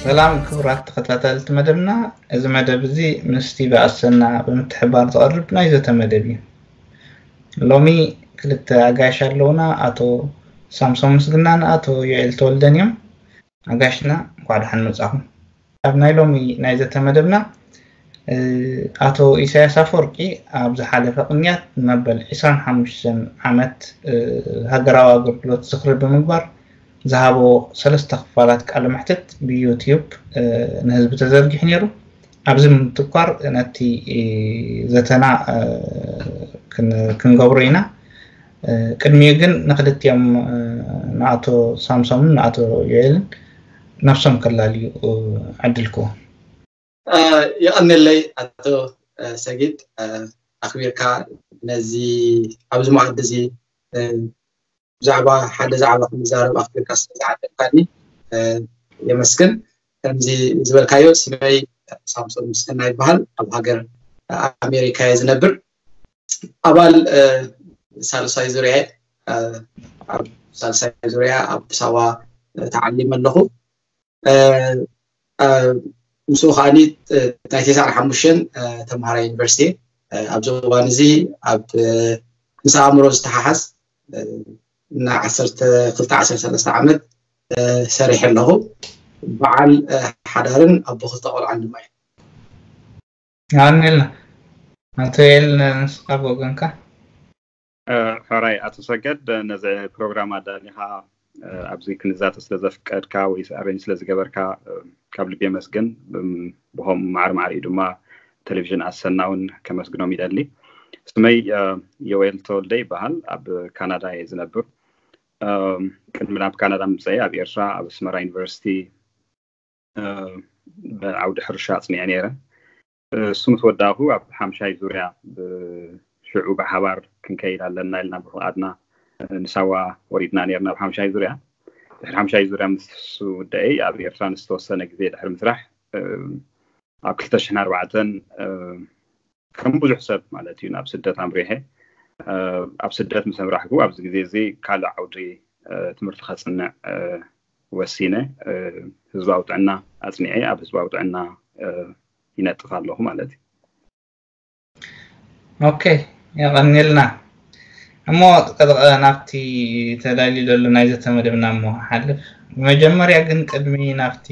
ሰላም ክቡራት ተኸታተልቲ መደብና፣ እዚ መደብ እዚ ምስቲ ብኣሰና ብምትሕባር ዝቐርብ ናይ ዘተ መደብ እዩ። ሎሚ ክልተ ኣጋይሽ ኣለውና፣ ኣቶ ሳምሶን ምስግናን ኣቶ ዮኤል ተወልደን እዮም። ኣጋይሽና እንኳዕ ደሓን መጻኹም። ኣብ ናይ ሎሚ ናይ ዘተ መደብና ኣቶ ኢሳያስ ኣፈወርቂ ኣብ ዝሓለፈ ቅንያት መበል ዕስራን ሓሙሽተን ዓመት ሃገራዊ ኣገልግሎት ዝኽሪ ብምግባር ዝሃቦ ሰለስተ ክፋላት ቃለ መሕትት ብዩቲዩብ ንህዝቢ ተዘርጊሑ ነይሩ። ኣብዚ ምትኳር ነቲ ዘተና ክንገብሮ ኢና። ቅድሚኡ ግን ንክልቲኦም ንኣቶ ሳምሶምን ንኣቶ ዮኤልን ነብሶም ከላልዩ ዕድል ክህቦም። የቐንየለይ ኣቶ ሰጊድ፣ ኣኽቢርካ ነዚ ኣብዚ መኣዲ እዚ ብዛዕባ ሓደ ዛዕባ ክንዛረብ ኣኽቢርካ ስለዝዓደምካኒ የመስግን። ከምዚ ዝበልካዮ ስመይ ሳምሶን ምስግና ይበሃል። ኣብ ሃገር ኣሜሪካ እየ ዝነብር። ኣባል ሳልሳይ ዙርያ ኣብ ሳልሳይ ዙርያ ኣብ ኣዲስ ኣበባ ተዓሊመ ኣለኹ። ምስኡ ከዓኒ ናይ ተስዓን ሓሙሽተን ተምሃራይ ዩኒቨርሲቲ ኣብዚ እዋን እዚ ኣብ ምስ ኣእምሮ ዝተሓሓዝ ን ዓሰርተ ክልተ ዓሰርተ ሰለስተ ዓመት ሰሪሐ ኣለኹ። በዓል ሓዳርን ኣቦ ክልተ ቆልዓን ድማ እየ። ኣሜልና ኣቶ ኤል ንስኻ ብወገንካ ሕራይ ኣቶ ሰገድ ነዚ ፕሮግራም ኣዳሊኻ ኣብዚ ክንዛተ ስለ ዘፍቀድካ ወይ ኣሬንጅ ስለ ዝገበርካ ካብ ልቢ የመስግን። ብኸም ማዕር ማዕር እዩ ድማ ቴሌቪዥን ኣሰና እውን ከመስግኖም ይደሊ። ስመይ ዮኤል ተወልደ ይበሃል። ኣብ ካናዳ እየ ዝነብር። ቅድሚ ናብ ካናዳ ምምፀይ ኣብ ኤርትራ ኣብ ኣስመራ ዩኒቨርሲቲ ዓውዲ ሕርሻ ኣፅኒዐ ነይረ። እሱ ምስ ወዳእኹ ኣብ ሓምሻይ ዙርያ ብሽዑ ብሓባር ክንከይድ ኣለና ኢልና ብፍቓድና ንሳዋ ወሪድና ነርና ኣብ ሓምሻይ ዙርያ። ድሕሪ ሓምሻይ ዙርያ ምስ ውደአይ ኣብ ኤርትራ ንዝተወሰነ ግዜ ድሕሪ ምስራሕ ኣብ ክልተ ሽሕን ኣርባዕተን ከም ብዙሕ ሰብ ማለት እዩ ናብ ስደት ኣምሪሐ። ኣብ ስደት ምስ ኣምራሕኩ ኣብዚ ግዜ እዚ ካልእ ዓውዲ ትምህርቲ ከፅንዕ ወሲነ ህዝባዊ ጥዕና ኣፅኒዐ ኣብ ህዝባዊ ጥዕና ይነጥፍ ኣለኹ ማለት እዩ። ኦኬ፣ የቐንየልና። እሞ ናብቲ ተዳልዩ ዘሎ ናይ ዘተ መደብና እሞ ሓልፍ። መጀመርያ ግን ቅድሚ ናብቲ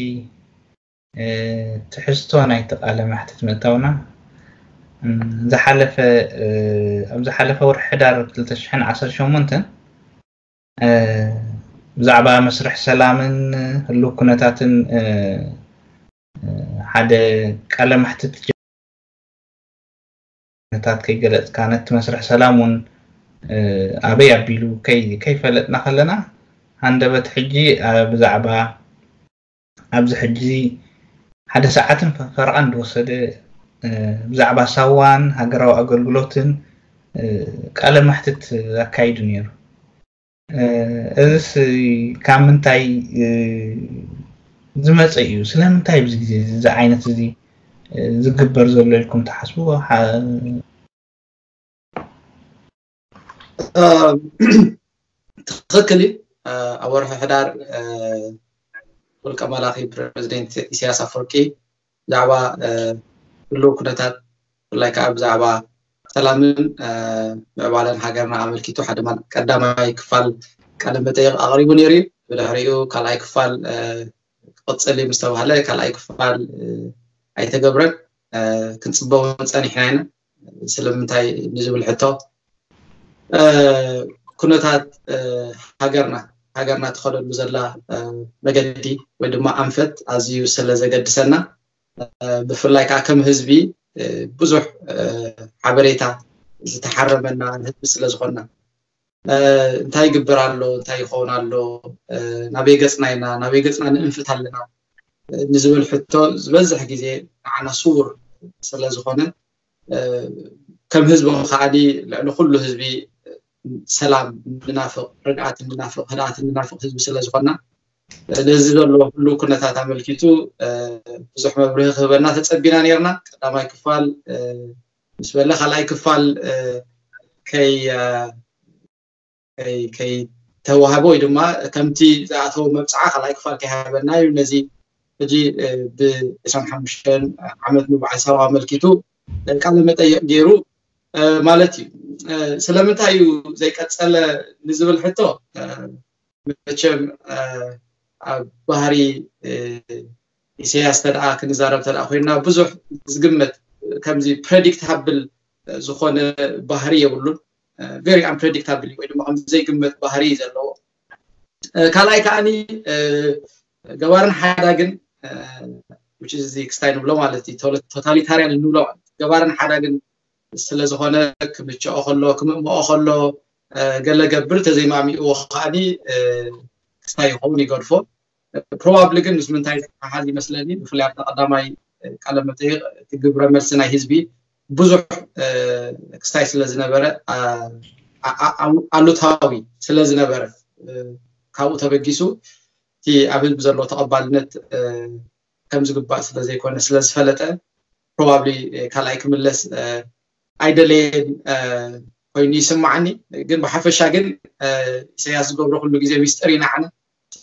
ትሕዝቶ ናይቲ ቃለ መሕትት ምእታውና ዝሓለፈ ኣብ ዝሓለፈ ወርሒ ሕዳር ክልተ ሽሕን ዓሰርተ ሸሞንተን ብዛዕባ መስርሕ ሰላምን ህልው ኩነታትን ሓደ ቃለ መሕትት ነታት ከይገለጽካ ነቲ መስርሕ ሰላም እውን ኣበይ ኣቢሉ ከይፈለጥና ከለና ሃንደበት ሕጂ ብዛዕባ ኣብዚ ሕጂ ሓደ ሰዓትን ፈረቓን ዝወሰደ ብዛዕባ ሳዋን ሃገራዊ ኣገልግሎትን ቃለ መሕትት ኣካይዱ ነይሩ። እዚስ ካብ ምንታይ ዝመፀ እዩ? ስለምንታይ ኣብዚ ግዜ እዚ ዓይነት እዚ ዝግበር ዘሎ ኢልኩም ትሓስቡ? ትኽክል እዩ። ኣብ ወርሒ ሕዳር ውልቀ መላኺ ፕረዚደንት ኢሳያስ ኣፈወርቂ ብዛዕባ ህልው ኩነታት ብፍላይ ከዓ ብዛዕባ ሰላምን ምዕባለን ሃገርና ኣመልኪቱ ሓደ ቀዳማይ ክፋል ቃለ መጠይቕ ኣቕሪቡ ነይሩ እዩ። ብድሕሪኡ ካልኣይ ክፋል ክቕፅል እዩ ምስ ተባህለ ካልኣይ ክፋል ኣይተገብረን። ክንፅበ እውን ፀኒሕና ኢና። ስለምንታይ ንዝብል ሕቶ ኩነታት ሃገርና ሃገርና ትኸደሉ ዘላ መገዲ ወይ ድማ ኣንፈት ኣዝዩ ስለ ዘገድሰና ብፍላይ ከዓ ከም ህዝቢ ብዙሕ ሓበሬታ ዝተሓረመና ህዝቢ ስለ ዝኾንና እንታይ ይግበር ኣሎ፣ እንታይ ይኸውን ኣሎ፣ ናበይ ገፅና ኢና፣ ናበይ ገፅና ንእንፍት ኣለና ንዝብል ሕቶ ዝበዝሕ ግዜ ንዓና ስውር ስለ ዝኾነ ከም ህዝቢ ከዓኒ ልዕሊ ኩሉ ህዝቢ ሰላም እንናፍቕ፣ ርግኣት እንናፍቕ፣ ህድኣት እንናፍቕ ህዝቢ ስለ ዝኾንና ነዚ ዘሎ ኩሉ ኩነታት ኣመልኪቱ ብዙሕ መብርሂ ክህበና ተፀቢና ነርና። ቀዳማይ ክፋል ምስ በለ ካልኣይ ክፋል ከይ ከይተዋህበ ወይ ድማ ከምቲ ዝኣተወ መብፅዓ ካልኣይ ክፋል ከይሃበና እዩ ነዚ ሕጂ ብዕስራን ሓሙሽተን ዓመት ምብዓል ሳዋ ኣመልኪቱ ቃለ መጠይቕ ገይሩ ማለት እዩ። ስለምንታይ እዩ ዘይቀጸለ ንዝብል ሕቶ፣ መቸም ኣብ ባህሪ ኢሳያስ ተደኣ ክንዛረብ ተደኣ ኮይና፣ ብዙሕ ዝግመት፣ ከምዚ ፕሬዲክታብል ዝኾነ ባህሪ የብሉን። ቨሪ ኣንፕሬዲክታብል ወይ ድማ ከምዚ ዘይግመት ባህሪ እዩ ዘለዎ። ካልኣይ ከዓኒ ገባርን ሓዳግን፣ ክስታይ ንብሎ ማለት እዩ፣ ቶታሊታርያን እንብሎ ማለት ገባርን ሓዳግን ስለ ዝኾነ፣ ክምችኦ ከሎ፣ ክምእምኦ ከሎ፣ ገለ ገብር ተዘይማሚእዎ ከዓኒ ክስታይ ይኸውን፣ ይገድፎ። ፕሮባብሊ ግን ምስ ምንታይ ዝተሓሓዝ ይመስለኒ፣ ብፍላይ ኣብቲ ቀዳማይ ቃለ መጠይቕ እቲ ግብረ መልሲ ናይ ህዝቢ ብዙሕ ክስታይ ስለ ዝነበረ፣ ኣሉታዊ ስለ ዝነበረ፣ ካብኡ ተበጊሱ እቲ ኣብ ህዝቢ ዘለዎ ተቐባልነት ከም ዝግባእ ስለ ዘይኮነ ስለ ዝፈለጠ፣ ፕሮባብሊ ካልኣይ ክምለስ ኣይደለየን ኮይኑ ይስማዓኒ። ግን ብሓፈሻ ግን ኢሳያስ ዝገብሮ ኩሉ ግዜ ሚስጥር ኢና ዓነ።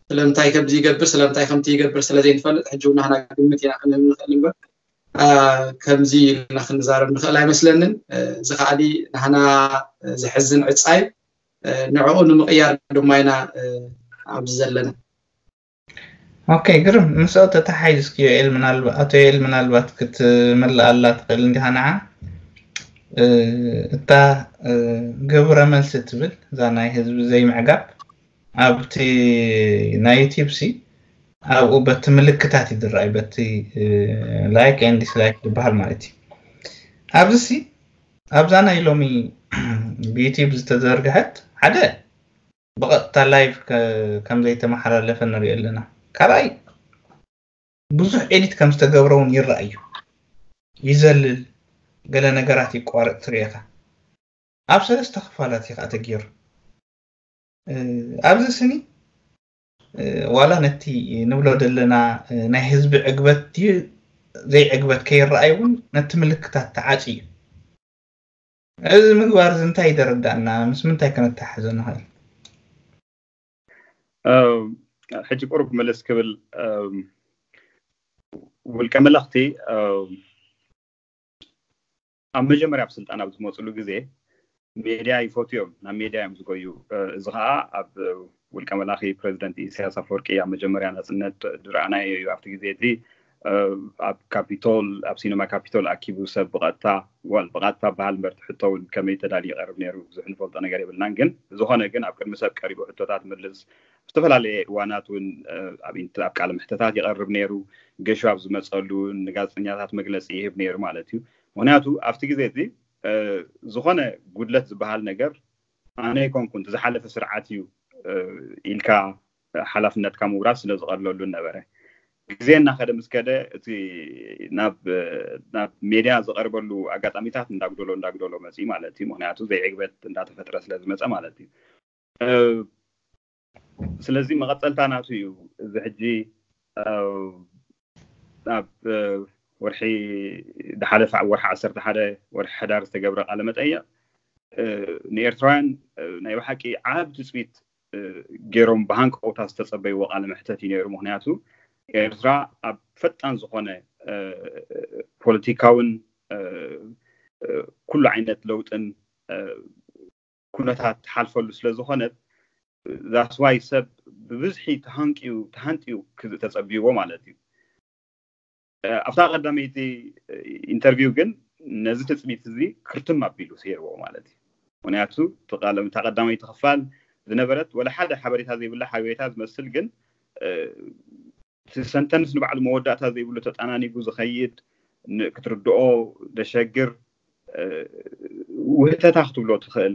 ስለምንታይ ከምዚ ይገብር፣ ስለምንታይ ከምቲ ይገብር ስለ ዘይንፈልጥ፣ ሕጂ እውን ናህና ግምት ኢና ክንህብ ንኽእል እምበር፣ ከምዚ ኢልና ክንዛረብ ንኽእል ኣይመስለንን። እዚ ከዓኒ ናህና ዘሕዝን ዕጻ እዩ። ንዕኡ ንምቕያር ድማ ኢና ኣብዚ ዘለና። ኦኬ፣ ግርም። ምስኦ ተተሓይዝ እስኪ ዮኤል፣ ምናልባት ኣቶ ዮኤል፣ ምናልባት ክትምልኣላ ትኽእል እንዲኻ ንዓ። እታ ግብረ መልሲ ትብል እዛ ናይ ህዝቢ ዘይምዕጋብ ኣብቲ ናይ ዩቲዩብ ሲ ኣብኡ በቲ ምልክታት ይድረኣይ፣ በቲ ላይክ ኤንድ ዲስላይክ ዝበሃል ማለት እዩ። ኣብዚ ሲ ኣብዛ ናይ ሎሚ ብዩቲዩብ ዝተዘርግሐት ሓደ ብቐጥታ ላይቭ ከም ዘይተመሓላለፈ ንሪኦ ኣለና። ካልኣይ ብዙሕ ኤዲት ከም ዝተገብረ እውን ይረኣዩ። ይዘልል፣ ገለ ነገራት ይቋረጥ ትሪኤኻ። ኣብ ሰለስተ ክፋላት እዩ ከዓ ተገይሩ። ኣብዚ ስኒ ዋላ ነቲ ንብሎ ዘለና ናይ ህዝቢ ዕግበት ድዩ ዘይዕግበት ከይረኣይ እውን ነቲ ምልክታት ተዓፂ እዩ። እዚ ምግባር እዚ እንታይ ይደረዳእና? ምስ ምንታይ ከነተሓሕዞ ንኽእል? ሕጂ ቁሩብ ምልስ ክብል፣ ውልቀ መለኽቲ ኣብ መጀመርያ ኣብ ስልጣን ኣብ ዝመፅሉ ግዜ ሜድያ ይፈትዮም፣ ናብ ሜድያ እዮም ዝጎዩ። እዚ ከዓ ኣብ ውልቀ መላኺ ፕሬዚደንት ኢሳያስ ኣፈወርቂ ኣብ መጀመርያ ናፅነት ዝረኣናዮ እዩ። ኣብቲ ግዜ እቲ ኣብ ካፒቶል፣ ኣብ ሲነማ ካፒቶል ኣኪቡ ሰብ ብቐጥታ፣ ዋል ብቐጥታ በሃል እምበር፣ እቲ ሕቶ እውን ከመይ ተዳልዩ ይቐርብ ነይሩ ብዙሕ ንፈልጦ ነገር የብልናን። ግን ዝኾነ ግን ኣብ ቅድሚ ሰብ ቀሪቡ ሕቶታት ምልስ፣ ዝተፈላለየ እዋናት እውን ኣብ ቃለ መሕተታት ይቐርብ ነይሩ። ገሹ ኣብ ዝመፀሉ ንጋዜጠኛታት መግለፂ ይህብ ነይሩ ማለት እዩ። ምክንያቱ ኣብቲ ግዜ እዚ ዝኾነ ጉድለት ዝበሃል ነገር ኣነ ኣይኮንኩን፣ እቲ ዝሓለፈ ስርዓት እዩ ኢልካ ሓላፍነትካ ምውራድ ስለ ዝቐለሉ ነበረ። ግዜ እናኸደ ምስ ከደ እቲ ናብ ሜድያ ዝቐርበሉ ኣጋጣሚታት እንዳጉደሎ እንዳጉደሎ መፅዩ ማለት እዩ። ምክንያቱ ዘይዕግበት እንዳተፈጥረ ስለ ዝመፀ ማለት እዩ። ስለዚ መቐፀልታ ናቱ እዩ። እዚ ሕጂ ኣብ ወርሒ ዝሓለፈ፣ ኣብ ወርሒ ዓሰርተ ሓደ ወርሒ ሕዳር ዝተገብረ ቃለ መጠይቕ ንኤርትራውያን ናይ ብሓቂ ዓብ ትፅቢት ገይሮም ብሃንቀውታ ዝተፀበይዎ ቃለ መሕተት እዩ ነይሩ። ምክንያቱ ኤርትራ ኣብ ፈጣን ዝኾነ ፖለቲካውን ኩሉ ዓይነት ለውጥን ኩነታት ትሓልፈሉ ስለ ዝኾነት፣ that's why ሰብ ብብዝሒ ተሃንቅዩ፣ ተሃንጥዩ ተፀብይዎ ማለት እዩ። ኣብታ ቀዳመይቲ ኢንተርቪው ግን ነዚ ትፅቢት እዚ ክርትም ኣቢሉ ሰይርዎ ማለት እዩ። ምክንያቱ እታ ቀዳመይቲ ክፋል ዝነበረት ወላ ሓደ ሓበሬታ ዘይብላ ሓበሬታ ዝመስል፣ ግን እቲ ሰንተንስ ንባዕሉ መወዳእታ ዘይብሉ ተጠናኒጉ ዝኸይድ፣ ክትርድኦ ደሸግር ውህተታ ክትብሎ ትኽእል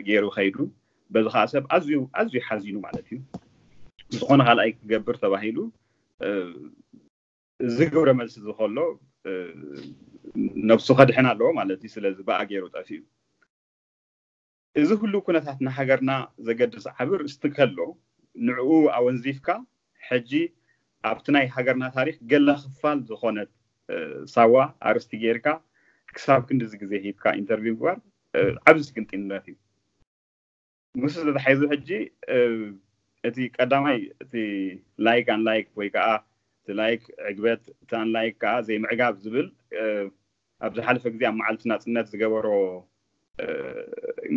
ገይሩ ከይዱ። በዚ ከዓ ሰብ ኣዝዩ ኣዝዩ ሓዚኑ ማለት እዩ። ዝኾነ ካልኣይ ክገብር ተባሂሉ እዚ ግብረ መልሲ እዚ ከሎ ነብሱ ከድሕን ኣለዎ ማለት እዩ። ስለዚ ብኣ ገይሩ ጠፊኡ። እዚ ኩሉ ኩነታት ንሃገርና ዘገድስ ዓብር እስቲ ከሎ፣ ንዕኡ ኣወንዚፍካ ሕጂ ኣብቲ ናይ ሃገርና ታሪኽ ገለ ክፋል ዝኾነት ሳዋ ኣርስቲ ጌርካ ክሳብ ክንድዚ ግዜ ሂብካ ኢንተርቪው ምግባር ዓብዚ ስግንጢነት እዩ። ምስ ተታሒዙ ሕጂ እቲ ቀዳማይ እቲ ላይክ ኣን ላይክ ወይ ከዓ እቲ ላይክ ዕግበት፣ እቲ ኣንላይክ ከዓ ዘይምዕጋብ ዝብል ኣብ ዝሓለፈ ግዜ ኣብ መዓልቲ ናፅነት ዝገበሮ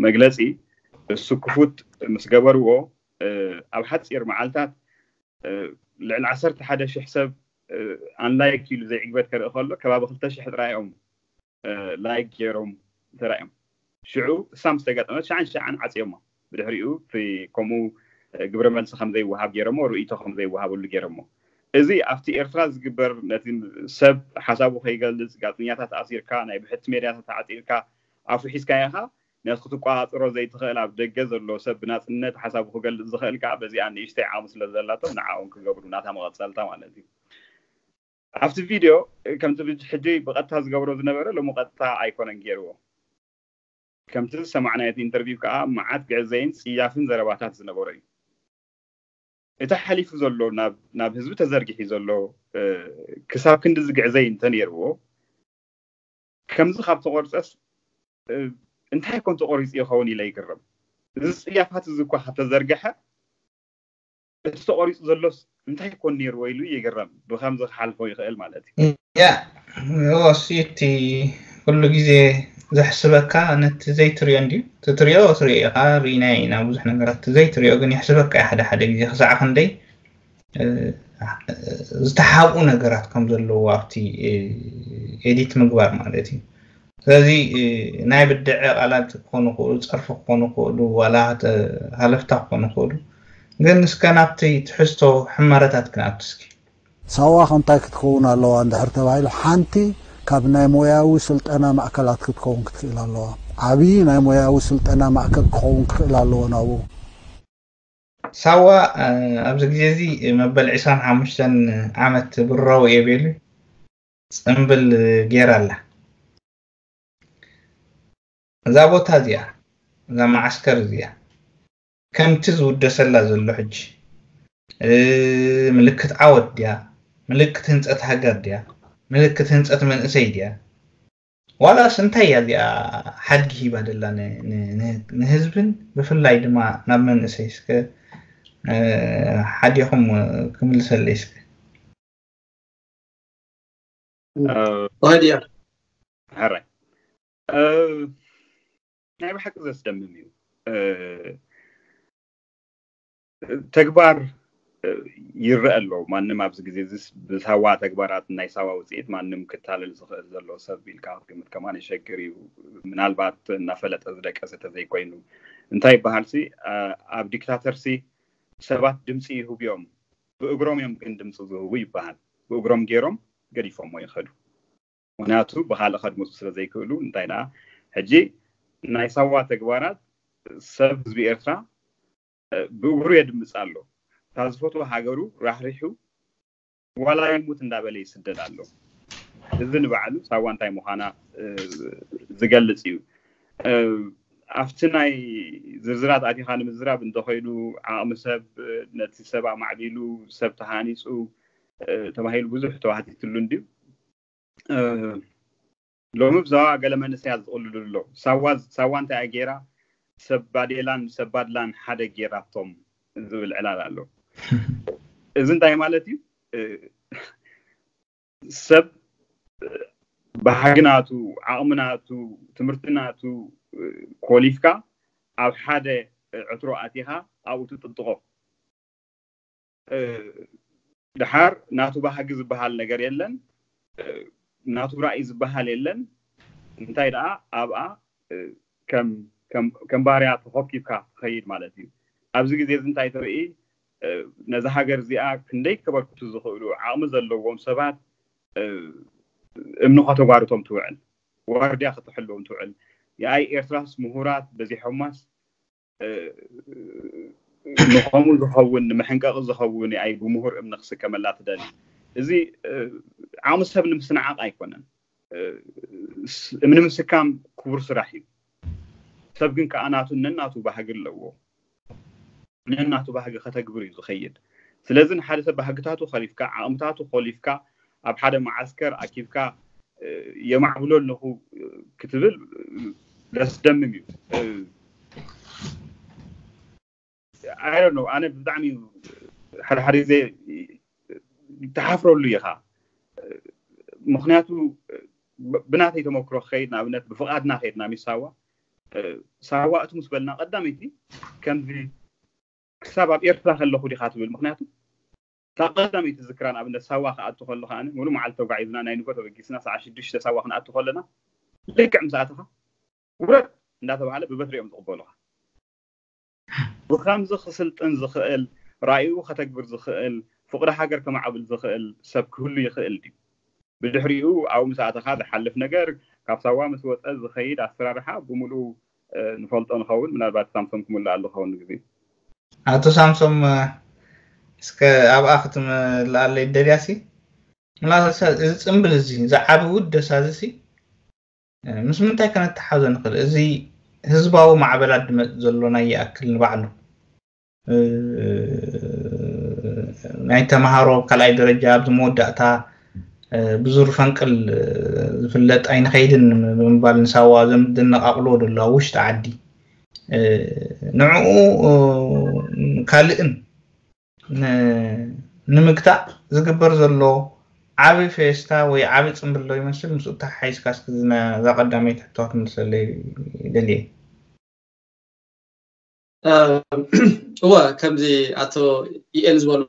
መግለፂ፣ እሱ ክፉት ምስ ገበርዎ፣ ኣብ ሓፂር መዓልታት ልዕሊ ዓሰርተ ሓደ ሽሕ ሰብ ኣንላይክ ኢሉ ዘይዕግበት ከርኢ ከሎ ከባቢ ክልተ ሽሕ ጥራይ እዮም ላይክ ገይሮም ተራእዮም። ሽዑ እሳ ምስ ተጋጠመት ሸዓን ሸዓን ዓፅዮሞ። ብድሕሪኡ እቲ ከምኡ ግብረ መልሲ ከም ዘይወሃብ ገይሮሞ፣ ርእይቶ ከም ዘይወሃበሉ ገይሮሞ። እዚ ኣብቲ ኤርትራ ዝግበር ነቲ ሰብ ሓሳቡ ከይገልጽ ጋዜጠኛታት ኣሲርካ፣ ናይ ብሕቲ ሜድያታት ተዓጺርካ፣ ኣፉ ሒዝካዮ ኢኻ። ነቲ ክትቆጻጸሮ ዘይትኽእል ኣብ ደገ ዘሎ ሰብ ብናጽነት ሓሳቡ ክገልጽ ዝኽእል ከኣ በዚኣ ንእሽተይ ዓቕሚ ስለ ዘላቶም ንዓኦም ክገብሩ ናታ መቐጸልታ ማለት እዩ። ኣብቲ ቪድዮ ከምቲ ብጅ- ሕጂ ብቐጥታ ዝገብሮ ዝነበረ ሎሚ ቀጥታ ኣይኮነን ገይርዎ። ከምቲ ዝሰማዕናዮ እቲ ኢንተርቪው ከኣ መዓት ግዕዘይን ጽያፍን ዘረባታት ዝነበሮ እዩ። እቲ ሓሊፉ ዘሎ ናብ ናብ ህዝቢ ተዘርጊሑ ዘሎ ክሳብ ክንዲ ዝግዕዘይ እንተነይርዎ ከምዚ ካብ ተቆርፀስ እንታይ ኮን ተቆሪፁ ይኸውን ኢለ ይግርም። እዚ ፅያፋት እዚ እኳ ካብ ተዘርገሐ እቲ ተቆሪፁ ዘሎስ እንታይ ኮን ነይርዎ ኢሉ ይግረም። ብከምዚ ክሓልፎ ይኽእል ማለት እዩ። ያ እወ፣ እሱ እቲ ኩሉ ግዜ ዘሕስበካ ነቲ ዘይትሪኦ እንድዩ። እቲ ትሪኦ ትሪኦ ኢኻ፣ ርኢናዮ ኢና ብዙሕ ነገራት። እቲ ዘይትሪኦ ግን የሕስበካ እዩ ሓደ ሓደ ግዜ ክሳዕ ክንደይ ዝተሓብኡ ነገራት ከም ዘለዎ ኣብቲ ኤዲት ምግባር ማለት እዩ። ስለዚ ናይ ብድዐ ቃላት ክኾኑ ይኽእሉ፣ ፀርፊ ክኾኑ ይኽእሉ፣ ዋላ ሃለፍታ ክኾኑ ይኽእሉ። ግን እስከ ናብቲ ትሕዝቶ ሕመረታት ክንኣቱ እስኪ። ሳዋ ከ እንታይ ክትከውን ኣለዋ እንድሕር ተባሂሉ፣ ሓንቲ ካብ ናይ ሞያዊ ስልጠና ማእከላት ክትከውን ክትክእል ኣለዋ። ዓብዪ ናይ ሞያዊ ስልጠና ማእከል ክኸውን ክኽእል ኣለዎ ናብኡ። ሳዋ ኣብዚ ግዜ እዚ መበል ዕስራን ሓሙሽተን ዓመት ብራዊ እየ ቤሉ ፅምብል ገይራ ኣላ። እዛ ቦታ እዚኣ፣ እዛ መዓስከር እዚኣ ከምቲ ዝውደሰላ ዘሎ ሕጂ ምልክት ዓወት ድያ? ምልክት ህንፀት ሃገር ድያ? ምልክት ህንፀት መንእሰይ ድያ? ዋላስ እንታይ እያ እዚኣ ሓድጊ ሂባ ደላ ንህዝብን ብፍላይ ድማ ናብ መንእሰይ? እስከ ሓዲኹም ክምልሰለይ እስከ። ዋድያ ሕራይ ናይ ብሓቂ ዘስደምም እዩ። ተግባር ይረአ ኣሎ። ማንም ኣብዚ ግዜ እዚስ ብሳዋ ተግባራት ናይ ሳዋ ውፅኢት ማንም ክታለል ዝኽእል ዘሎ ሰብ ኢልካ ክትግምት ከማን የሸግር እዩ። ምናልባት እናፈለጠ ዝደቀሰ ተዘይኮይኑ እንታይ ይበሃል ሲ ኣብ ዲክታተር ሲ ሰባት ድምፂ ይህቡ እዮም፣ ብእግሮም እዮም ግን ድምፂ ዝህቡ ይበሃል። ብእግሮም ገይሮም ገዲፎሞ ይኸዱ። ምክንያቱ ብካልእ ከድምፁ ስለ ዘይክእሉ። እንታይ ደኣ ሕጂ ናይ ሳዋ ተግባራት ሰብ ህዝቢ ኤርትራ ብእግሩ የድምፅ ኣሎ። እታ ዝፈትዎ ሃገሩ ራሕሪሑ ዋላ ይሙት እንዳበለ ይስደድ ኣሎ። እዚ ንባዕሉ ሳዋ እንታይ ምዃና ዝገልፅ እዩ። ኣብቲ ናይ ዝርዝራት ኣቲኻ ንምዝራብ እንተኾይኑ ዓቕሚ ሰብ ነቲ ሰብ ኣማዕቢሉ ሰብ ተሃኒፁ ተባሂሉ ብዙሕ ተዋህቲትሉ እንድዩ። ሎሚ ብዛዋ ገለ መንእሰያት ዝቕልሉ ኣሎ። ሳዋ እንታይ ገይራ ሰብ ባዴላን ሰብ ባድላን ሓደ ገይራቶም ዝብል ዕላል ኣሎ። እዚ እንታይ ማለት እዩ? ሰብ ባህግናቱ ዓቕምናቱ ትምህርትናቱ ኮሊፍካ ኣብ ሓደ ዕትሮ ኣቲኻ ኣብኡ ትጥጥቆ። ድሓር ናቱ ባህጊ ዝበሃል ነገር የለን፣ ናቱ ራእይ ዝበሃል የለን። እንታይ ደኣ ኣብኣ ከም ባርያ ተኾብኪብካ ትኸይድ ማለት እዩ። ኣብዚ ግዜ እዚ እንታይ ትርኢ? ነዛ ሃገር እዚኣ ክንደይ ከበርክቱ ዝኽእሉ ዓቕሚ ዘለዎም ሰባት እምኒ ከተጓርቶም ትውዕል፣ ዋርድያ ከተሕልዎም ትውዕል። የኣይ ኤርትራስ ምሁራት በዚሖማስ ንኸምኡ ዝኸውን ንመሐንቀቒ ዝኸውን የኣይ ብምሁር እምኒ ክስከመላ ትደሊ። እዚ ዓቕሚ ሰብ ንምስንዓቕ ኣይኮነን። እምኒ ምስካም ክቡር ስራሕ እዩ። ሰብ ግን ከኣ ናቱ ነናቱ ባህጊ ኣለዎ። ነናቱ ባህጊ ከተግብር እዩ ዝኸይድ። ስለዚ ንሓደ ሰብ ባህግታቱ ከሊፍካ ዓቕምታቱ ከሊፍካ ኣብ ሓደ መዓስከር ኣኪብካ የማዕብሎ ኣለኹ ክትብል ዘስደምም እዩ። I don't know፣ ኣነ ብጣዕሚ ሓደ ሓደ ግዜ ትሓፍረሉ ኢኻ። ምክንያቱ ብናተይ ተመክሮ ክኸይድ፣ ንኣብነት ብፍቓድና ከይድና ሚስ ሳዋ፣ ሳዋ እቱ ምስ በልና ቀዳመይቲ ከምዚ ክሳብ ኣብ ኤርትራ ከለኹ ዲኻ ትብል። ምክንያቱ እታ ቀዳመይቲ ዝክራ፣ ንኣብነት ሳዋ ክኣቱ ከሎ ከኣ ሙሉእ መዓልቲ ተጓዒዝና፣ ናይ ንጎ ተበጊስና ሰዓት ሽዱሽተ ሳዋ ክንኣቱ ከለና ልክዕ ምስ ኣተኻ ውረድ እንዳተባሃለ ብበትሪ እዮም ዝቕበሉኻ። ብከምዚ ክስልጥን ዝኽእል፣ ራእዩ ከተግብር ዝኽእል፣ ፍቕሪ ሃገር ከማዕብል ዝኽእል ሰብ ክህሉ ይኽእል ድዩ? ብድሕሪኡ ኣብኡ ምስ ኣተኻ ዝሓልፍ ነገር፣ ካብ ሳዋ ምስ ወጸ ዝኸይድ ኣሰራርሓ ብምሉኡ ንፈልጦ ንኸውን። ምናልባት ሳምሶም ክምልኣሉ ክኸውን ንግዜ። ኣቶ ሳምሶም፣ እስከ ኣብኣ ክትምልኣለይ ደልያሲ? ምናልባት እዚ ጽምብል እዚ ዝዓቢ ውደሳ እዚ ምስ ምንታይ ከነተሓዞ ንኽእል? እዚ ህዝባዊ ማዕበላት ድመጽእ ዘሎ ናይ ይኣክል ንባዕሉ ናይ ተምሃሮ ካልኣይ ደረጃ ኣብዚ መወዳእታ ብዙር ፈንቅል ዝፍለጥ ኣይንኸይድን ብምባል ንሳዋ ዘም ድነቃቅሎ ደሎ ኣብ ውሽጢ ዓዲ ንዕኡ ካልእን ንምግታእ ዝግበር ዘሎ ዓቢ ፌስታ ወይ ዓቢ ጽምብል ዶ ይመስል? ምስኡ ተሓሒዝካ እስኪ እዛ ቀዳመይቲ ሕቶ ክትምልሰለይ ደልየ። እወ፣ ከምዚ ኣቶ ኢኤል ዝበሎ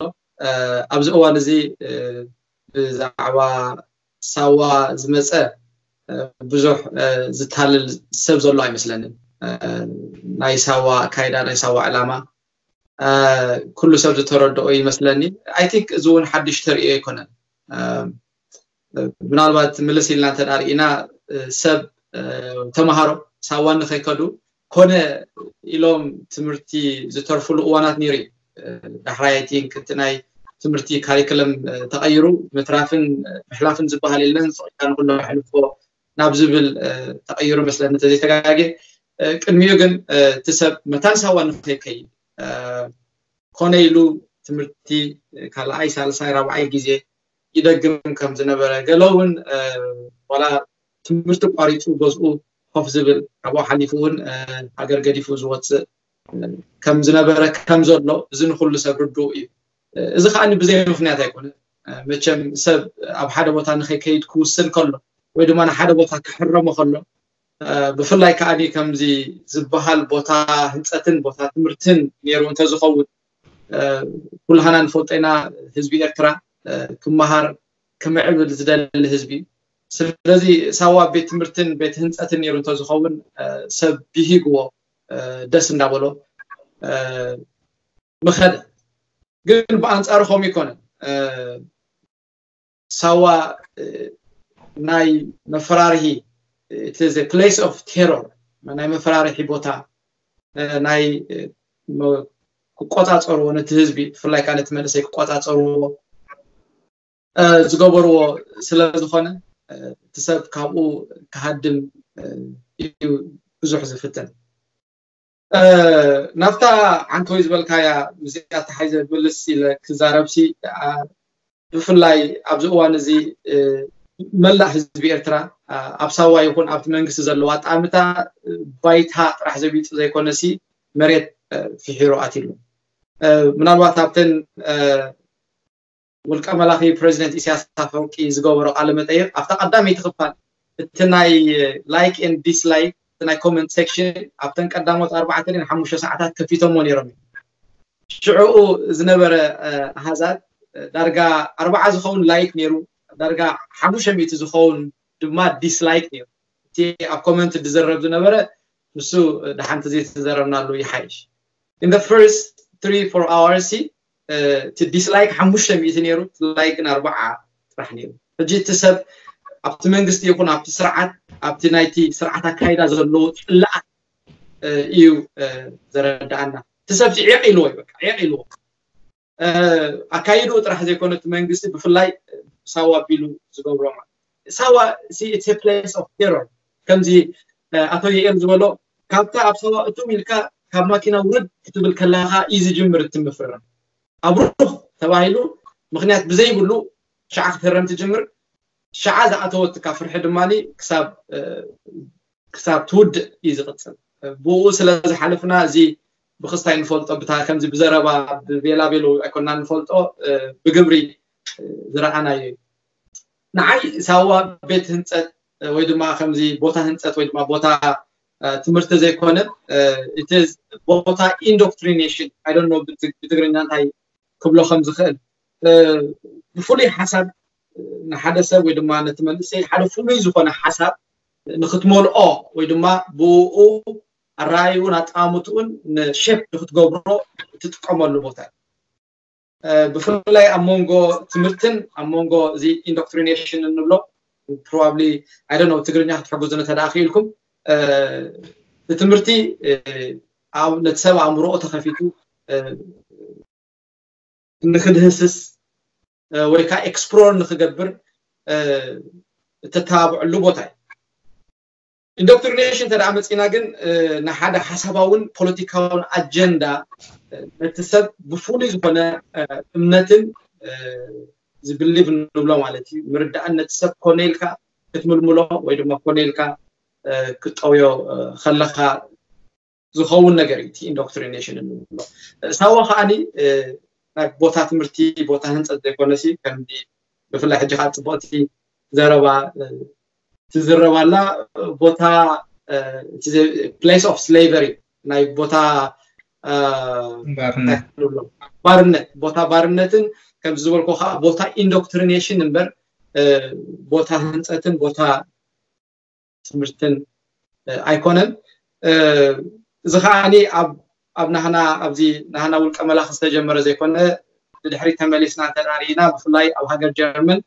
ኣብዚ እዋን እዚ ብዛዕባ ሳዋ ዝመፀ ብዙሕ ዝታልል ሰብ ዘሎ ኣይመስለንን። ናይ ሳዋ ኣካይዳ፣ ናይ ሳዋ ዕላማ ኩሉ ሰብ ዝተረድኦ ይመስለኒ። ኣይ ቲንክ እዚ እውን ሓድሽ ተርእዮ ኣይኮነን። ምናልባት ምልስ ኢልና እንተ ርኢና ሰብ ተምሃሮ ሳዋ ንኸይከዱ ኮነ ኢሎም ትምህርቲ ዝተርፉሉ እዋናት ነይሩ እዩ። ዳሕራይ ኣይ ቲንክ እቲ ናይ ትምህርቲ ካሪክለም ተቐይሩ ምትራፍን ምሕላፍን ዝበሃል የለን፣ ስቕ ኢልካ ንኩሉ ኣሕልፎ ናብ ዝብል ተቐይሩ መስለኒ እንተዘይተጋጌ። ቅድሚኡ ግን እቲ ሰብ መታን ሳዋ ንኸይከይድ ኮነ ኢሉ ትምህርቲ ካልኣይ፣ ሳልሳይ፣ ራብዓይ ግዜ ይደግም ከም ዝነበረ፣ ገለ እውን ዋላ ትምህርቲ ቋሪፁ ገዝኡ ኮፍ ዝብል፣ ካብኡ ሓሊፉ እውን ሃገር ገዲፉ ዝወፅእ ከም ዝነበረ ከም ዘሎ እዚ ንኩሉ ሰብ ርዱእ እዩ። እዚ ከዓ ብዘይ ምክንያት ኣይኮነን። መቸም ሰብ ኣብ ሓደ ቦታ ንኸይከይድ ክውስን ከሎ ወይ ድማ ንሓደ ቦታ ክሕረሞ ከሎ ብፍላይ ከዓ ከምዚ ዝበሃል ቦታ ህንፀትን ቦታ ትምህርትን ነይሩ እንተዝኸውን ኩልሃና ንፈልጦ ኢና። ህዝቢ ኤርትራ ክመሃር ክምዕብል ዝደሊ ህዝቢ እዩ። ስለዚ ሳዋ ቤት ትምህርትን ቤት ህንፀትን ነይሩ እንተዝኸውን ሰብ ብሂግዎ ደስ እንዳበሎ ምኸደ። ግን ብኣንፃሩ ከምኡ ይኮነን። ሳዋ ናይ መፈራርሂ፣ it is a place of terror፣ ናይ መፈራርሒ ቦታ፣ ናይ ክቆፃፀርዎ ነቲ ህዝቢ፣ ብፍላይ ከዓ ነቲ መንእሰይ ክቆፃፀርዎ ዝገበርዎ ስለ ዝኾነ እቲ ሰብ ካብኡ ክሃድም እዩ ብዙሕ ዝፍትን። ናብታ ዓንተወይ ዝበልካያ ምስዚኣ ተሓይዘ ምልስ ኢለ ክዛረብሲ ብፍላይ ኣብዚ እዋን እዚ መላእ ህዝቢ ኤርትራ ኣብ ሳዋ ይኹን ኣብቲ መንግስቲ ዘለዎ ኣጣምታ ባይታ ጥራሕ ዘቢጡ ዘይኮነሲ መሬት ፍሒሩ ኣትሉ። ምናልባት ኣብተን ውልቀ መላኺ ፕሬዚደንት ኢሳያስ ኣፈወርቂ ዝገበሮ ቃለ መጠይቅ ኣብታ ቀዳመይቲ ክፋል እቲ ናይ like and dislike ናይ comment section ኣብተን ቀዳሞት ኣርባዕተ ድን ሓሙሽተ ሰዓታት ከፊቶሞ ነይሮም። ሽዕኡ ዝነበረ ኣሃዛት ዳርጋ ኣርባዓ ዝኸውን like ነይሩ፣ ዳርጋ ሓሙሽተ ሚእቲ ዝኸውን ድማ dislike ነይሩ። እቲ ኣብ comment ዝዝረብ ዝነበረ ንሱ ደሓንቲ ዘይተዘረብናሉ ይሓይሽ። In the first three four hours እቲ dislike ሓሙሽተ ሚእቲ ነይሩ፣ like ግን ኣርባዓ ጥራሕ ነይሩ። ሕጂ እቲ ሰብ ኣብቲ መንግስቲ ይኹን ኣብቲ ስርዓት ኣብቲ ናይቲ ስርዓት ኣካይዳ ዘለዎ ፅላኣት እዩ ዘረዳኣና። እቲ ሰብ ዒቕ ኢልዎ እዩ፣ በቃ ዒቕ ኢልዎ። ኣካይድኡ ጥራሕ ዘይኮነ እቲ መንግስቲ ብፍላይ ሳዋ ኣቢሉ ዝገብሮ ማለት ሳዋ it's a place of terror። ከምዚ ኣቶ የኤል ዝበሎ ካብታ ኣብ ሳዋ እትም ኢልካ ካብ ማኪና ውርድ ክትብል ከለካ እዩ ዝጅምር እቲ ምፍርራም። ኣብሩኽ ተባሂሉ ምክንያት ብዘይብሉ ሸዓ ክትህረም ትጅምር። ሸዓ ዝኣተወትካ ፍርሒ ድማ ክሳብ ክሳብ ትውድእ እዩ ዝቕፅል። ብኡ ስለ ዝሓለፍና እዚ ብክስታይ ንፈልጦ ብታ ከምዚ ብዘረባ ብቤላ ቤሎ ኣይኮና ንፈልጦ ብግብሪ ዝረኣናዮ እዩ። ንዓይ ሳዋ ቤት ህንፀት ወይ ድማ ከምዚ ቦታ ህንፀት ወይ ድማ ቦታ ትምህርቲ ዘይኮነ፣ እቲ ቦታ ኢንዶክትሪኔሽን፣ ኣይ ዶንት ኖ ብትግርኛ እንታይ ክብሎ ከም ዝኽእል፣ ብፍሉይ ሓሳብ ንሓደ ሰብ ወይ ድማ ነቲ መንእሰይ ሓደ ፍሉይ ዝኾነ ሓሳብ ንክትመልኦ ወይ ድማ ብኡ ኣረኣይኡን ኣጠማምትኡን ንሼፕ ንክትገብሮ እትጥቀመሉ ቦታ እዩ። ብፍላይ ኣብ መንጎ ትምህርትን ኣብ መንጎ እዚ ኢንዶክትሪኔሽን እንብሎ፣ ፕሮባብሊ ኣይ ዶንት ኖ ትግርኛ ክትሕግዙ እንተ ደኣ ክኢልኩም፣ እቲ ትምህርቲ ነቲ ሰብ ኣእምሮኡ ተኸፊቱ ንክድህስስ ወይ ከዓ ኤክስፕሎር ንክገብር እተተባብዐሉ ቦታ እዩ። ኢንዶክትሪኔሽን እንተ ደኣ መፂና ግን ንሓደ ሓሳባውን ፖለቲካውን ኣጀንዳ ነቲ ሰብ ብፍሉይ ዝኾነ እምነትን ዝብሊቭ ንብሎ ማለት እዩ፣ ምርዳእን ነቲ ሰብ ኮነ ኢልካ ክትምልምሎ ወይ ድማ ኮነ ኢልካ ክትጠውዮ ከለካ ዝኸውን ነገር እዩ እቲ ኢንዶክትሪኔሽን እንብሎ። ሳዋ ከዓኒ ናይ ቦታ ትምህርቲ ቦታ ህንፀት ዘይኮነሲ ከምዚ ብፍላይ ሕጂ ከዓ ፅቡቕቲ ዘረባ ትዝረብ ኣላ። ቦታ place of slavery ናይ ቦታ ባርነት ቦታ ባርነትን ከምዚ ዝበልኮ ከዓ ቦታ ኢንዶክትሪኔሽን እምበር ቦታ ህንፀትን ቦታ ትምህርትን ኣይኮነን። እዚ ከዓኒ ኣብ ናህና ኣብዚ ናህና ውልቀ መላኺ ዝተጀመረ ዘይኮነ፣ ንድሕሪት ተመሊስና እንተዳርኢና ብፍላይ ኣብ ሃገር ጀርመን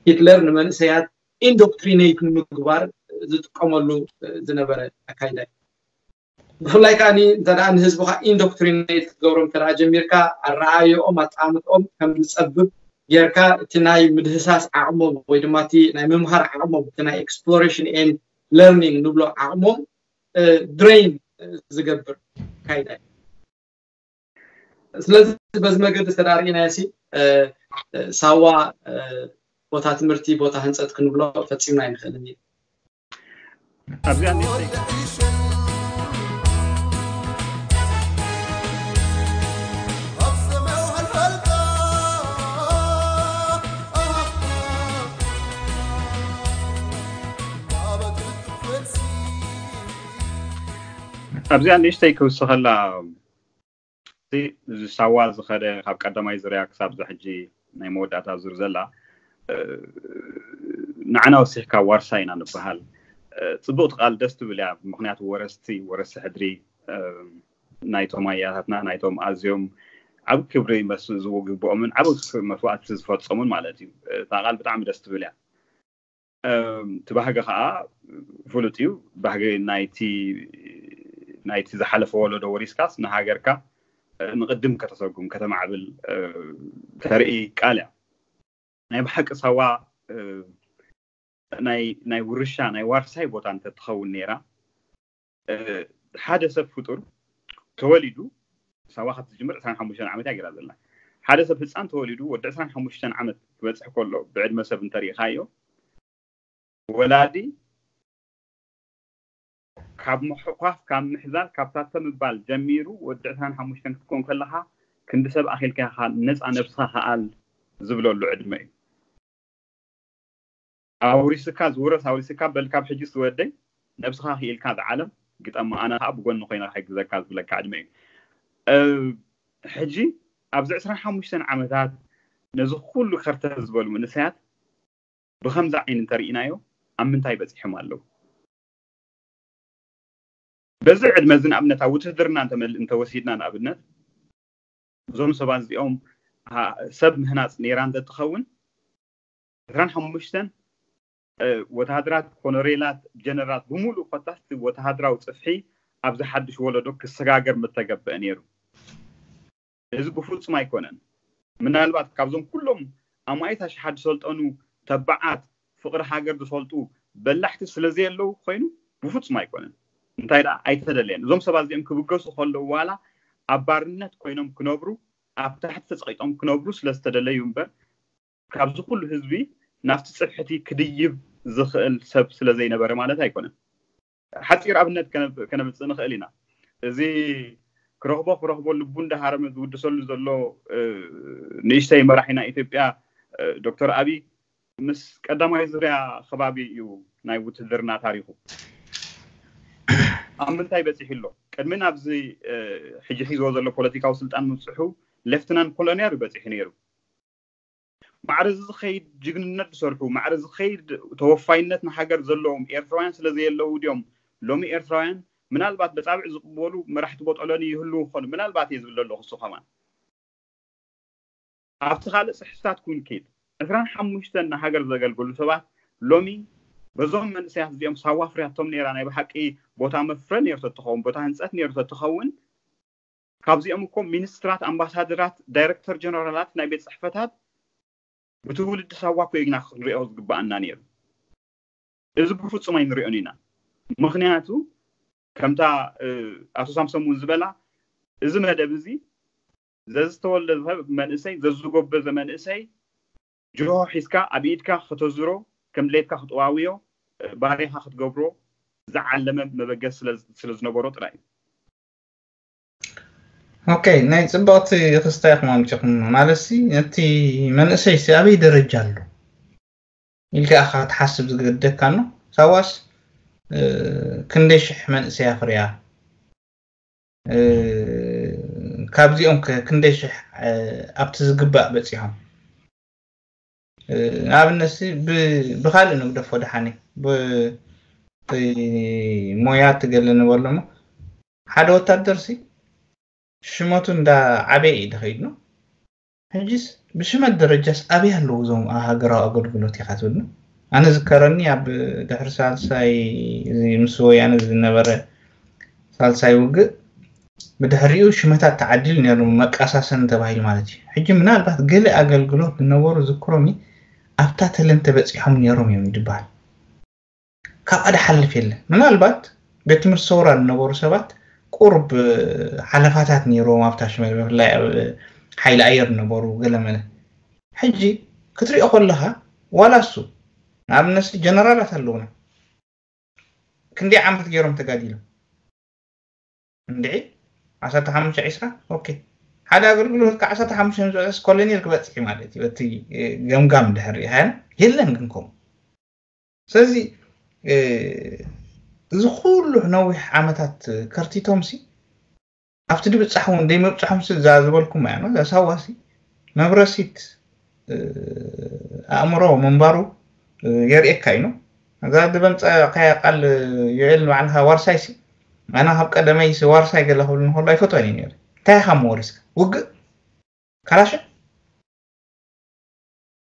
ሂትለር ንመንእሰያት ኢንዶክትሪኔት ንምግባር ዝጥቀመሉ ዝነበረ ኣካይዳ እዩ። ብፍላይ ከዓኒ እንተ ንህዝብኻ ኢንዶክትሪኔት ክትገብሮም እንተ ጀሚርካ ኣረኣየኦም ኣጠማምትኦም ከም ዝፀብብ ጌርካ እቲ ናይ ምድህሳስ ዓቕሞም ወይ ድማ እቲ ናይ ምምሃር ዓቕሞም እቲ ናይ ኤክስፕሎሬሽን ኤንድ ለርኒንግ ንብሎ ዓቕሞም ድሬን ዝገብር ኣካይዳ እዩ። ስለዚ በዚ መገዲ ዝተዳርኢናዮ ሲ ሳዋ ቦታ ትምህርቲ ቦታ ህንፀት ክንብሎ ፈፂምና ኣይንኽእልን እዩ። ኣብዚኣ ንእሽተይ ኣብዚኣ ንእሽተይ ክውስኸላ እዚ ሳዋ ዝኸደ ካብ ቀዳማይ ዙርያ ክሳብ ዛ ሕጂ ናይ መወዳእታ ዙር ዘላ ንዓና ወሲሕካ ዋርሳይ ኢና ንበሃል። ፅቡቕቲ ቃል ደስ ትብል እያ። ምክንያቱ ወረስቲ ወረስቲ ሕድሪ ናይቶም ኣያታትና ናይቶም ኣዝዮም ዓብ ክብሪ ዝግብኦምን ዓብ መስዋእቲ ዝፈፀሙን ማለት እዩ። እታ ቃል ብጣዕሚ ደስ ትብል እያ። እቲ ባህጊ ከዓ ፍሉጥ እዩ። ባህጊ ናይቲ ናይቲ ዝሓለፈ ወለዶ ወሪስካስ ንሃገርካ ንቕድም ከተሰጉም ከተማዕብል ተርኢ ቃል እያ። ናይ ብሓቂ ሳዋ ናይ ናይ ውርሻ ናይ ዋርሳይ ቦታ እንተትኸውን ነይራ ሓደ ሰብ ፍጡር ተወሊዱ ሳዋ ካብ ትጅምር ዕስራን ሓሙሽተን ዓመት እያ ገይራ ዘላ። ሓደ ሰብ ህፃን ተወሊዱ ወዲ ዕስራን ሓሙሽተን ዓመት ክበፅሕ ከሎ ብዕድመ ሰብ እንተሪኢኻዮ ወላዲ ካብ ምሕኳፍ ካብ ምሕዛል ካብ ታተ ምባል ጀሚሩ ወዲ ዕስራን ሓሙሽተን ክትኮን ከለኻ ክንዲ ሰብ ኣኺልካ ኢኻ ነፃ ነብስኻ ከኣል ዝብለሉ ዕድመ እዩ። ኣውሪስካ ዝውረስ ኣውሪስካ በል ካብ ሕጂ ዝወደይ ነብስኻ ክኢልካ ዝዓለም ግጠማ ኣነ ከዓ ብጎኒ ኮይነ ክሕግዘካ ዝብለካ ዕድመ እዩ። ሕጂ ኣብዚ ዕስራን ሓሙሽተን ዓመታት ነዚ ኩሉ ከርተት ዝበሉ መንእሰያት ብከምዚ ዓይኒ እንተርኢናዮ ኣብ ምንታይ በፂሖም ኣለዉ? በዚ ዕድመ እዚ ንኣብነት ኣብ ውትህድርና እንተወሲድና ንኣብነት እዞም ሰባት እዚኦም ሰብ ምህናፅ ነይራ እንተትኸውን ዕስራን ሓሙሽተን ወተሃደራት ኮሎኔላት ጀነራላት ብምሉእ ኮታስ ወተሃደራዊ ፅፍሒ ኣብዚ ሓዱሽ ወለዶ ክሰጋገር ምተገበአ ነይሩ። እዚ ብፍፁም ኣይኮነን። ምናልባት ካብዞም ኩሎም ኣማኢት ኣሽሓት ዝሰልጠኑ ተባዓት ፍቕሪ ሃገር ዝፈልጡ በላሕቲ ስለዘየለዉ ኮይኑ ብፍፁም ኣይኮነን። እንታይ ደኣ ኣይተደለየን። እዞም ሰባት እዚኦም ክብገሱ ከለዉ ዋላ ኣብ ባርነት ኮይኖም ክነብሩ ኣብ ታሕቲ ተፀቒጦም ክነብሩ ስለዝተደለዩ እምበር ካብዚ ኩሉ ህዝቢ ናብቲ ፅፍሕቲ ክድይብ ዝኽእል ሰብ ስለዘይነበረ ማለት ኣይኮነን። ሓፂር ኣብነት ከነምፅእ ንኽእል ኢና። እዚ ክረኽቦ ክረኽቦ ልቡ እንዳሃረመ ዝውድሰሉ ዘሎ ንእሽተይ መራሒ ናይ ኢትዮጵያ ዶክተር ኣብይ ምስ ቀዳማይ ዙርያ ከባቢ እዩ ናይ ውትድርና ታሪኹ። ኣብ ምንታይ በፂሑ ኣሎ? ቅድሚ ናብዚ ሕጂ ሒዝዎ ዘሎ ፖለቲካዊ ስልጣን ምብፅሑ ሌፍትናንት ኮሎኔል እዩ በፂሑ ነይሩ። ማዕረ እዚ ዝኸይድ ጅግንነት ዝሰርሑ፣ ማዕረ ዝኸይድ ተወፋይነት ንሃገር ዘለዎም ኤርትራውያን ስለ ዘየለዉ ድዮም ሎሚ ኤርትራውያን ምናልባት በፃብዕ ዝቕበሉ መራሕቲ ቦጦሎኒ ይህልዉ ይኾኑ? ምናልባት እየ ዝብል ዘለኹ እሱ ከማን ኣብቲ ካልእ ጽሕፍታት ኩን ኪድ ዕስራን ሓሙሽተን ንሃገር ዘገልግሉ ሰባት ሎሚ በዞም መንእሰያት እዚኦም ሳዋ ፍርያቶም ነይራ ናይ ብሓቂ ቦታ መፍረ ነይሩ ተትኸውን ቦታ ህንጸት ነይሩ ተትኸውን ካብዚኦም እኮ ሚኒስትራት ኣምባሳደራት ዳይረክተር ጀነራላት ናይ ቤት ጽሕፈታት ብትውልዲ ሳዋ እኮ ኢና ክንሪኦ ዝግባኣና ነይሩ እዚ ብፍጹም ኣይንሪኦን ኢና ምኽንያቱ ከምታ ኣቶ ሳምሶም እውን ዝበላ እዚ መደብ እዚ ዘዝተወልደ ሰብ መንእሰይ ዘዝጎበዘ መንእሰይ ጅሆ ሒዝካ ኣብ ኢድካ ከተዝሮ ከም ድሌትካ ክጥዋውዮ ባሬኻ ክትገብሮ ዝዓለመ መበገስ ስለ ዝነበሮ ጥራይ እዩ። ኦኬ ናይ ፅብቕቲ ክስታይ ኢኹም ኣምፂኹም ማለት ሲ ነቲ መንእሰይ ሲ ኣበይ ደረጃ ኣሎ ኢልካ ኢኻ ክትሓስብ ዝገደካ ኣሎ። ሳዋስ ክንደይ ሽሕ መንእሰይ ኣፍርያ ካብዚኦም ከ ክንደይ ሽሕ ኣብቲ ዝግባእ በፂሖም? ንኣብነት ሲ ብካልእ ንግደፎ ደሓኒ ሞያ ትገለ ንበሎ እሞ ሓደ ወታደር ሲ ሽመቱ እንዳ ዓበየ እዩ ዝኸይድ ነው። ሕጂስ ብሽመት ደረጃስ ኣበይ ኣለዉ እዞም ኣብ ሃገራዊ ኣገልግሎት ኢኻ ትብል ነው? ኣነ ዝከረኒ ኣብ ድሕሪ ሳልሳይ እዚ ምስ ወያነ ዝነበረ ሳልሳይ ውግእ ብድሕሪኡ ሽመታት ተዓዲሉ ነይሩ መቃሳሰን ተባሂሉ ማለት እዩ። ሕጂ ምናልባት ገለ ኣገልግሎት ዝነበሩ ዝክሮም ኣብታ ተለን ተበፂሖም ነይሮም እዮም ይድበሃል። ካብኣ ድሓልፍ የለን። ምናልባት ቤት ትምህርቲ ሰውራ ዝነበሩ ሰባት ቁሩብ ሓለፋታት ነይሮም ኣብታ ሽመል ብፍላይ ኣብ ሓይሊ ኣየር ዝነበሩ ገለመለ። ሕጂ ክትሪኦ ከለኻ ዋላ እሱ ንኣብነት ጀነራላት ኣለውና ክንደይ ዓመት ገይሮም ተጋዲሎም እንድዒ ዓሰርተ ሓሙሽተ ዒስራ ኦኬ ሓደ ኣገልግሎት ካብ ዓሰርተ ሓሙሽተ ንዝበፅሕስ ኮሎኔል ክበፅሕ ማለት እዩ እቲ ገምጋም ድሕር ሪኢኻዮ የለን ግን ከምኡ ስለዚ እዚ ኩሉ ነዊሕ ዓመታት ከርቲቶም ሲ ኣብቲ ድብፃሕ እውን ደይመብፅሖም ሲ እዛ ዝበልኩም እያ እዛ ሳዋ ሲ መብረሲት ኣእምሮ ምንባሩ የርእየካ እዩ እዛ ድበምፀእካያ ቃል ዮኤል ንባዕልካ ዋርሳይ ሲ ኣነ ካብ ቀደመይ ሲ ዋርሳይ ገለ ክብል እንከሎ ኣይፈትወን እዩ ነይሩ እንታይ ኢኻ መወሪስካ ውግእ ካላሽ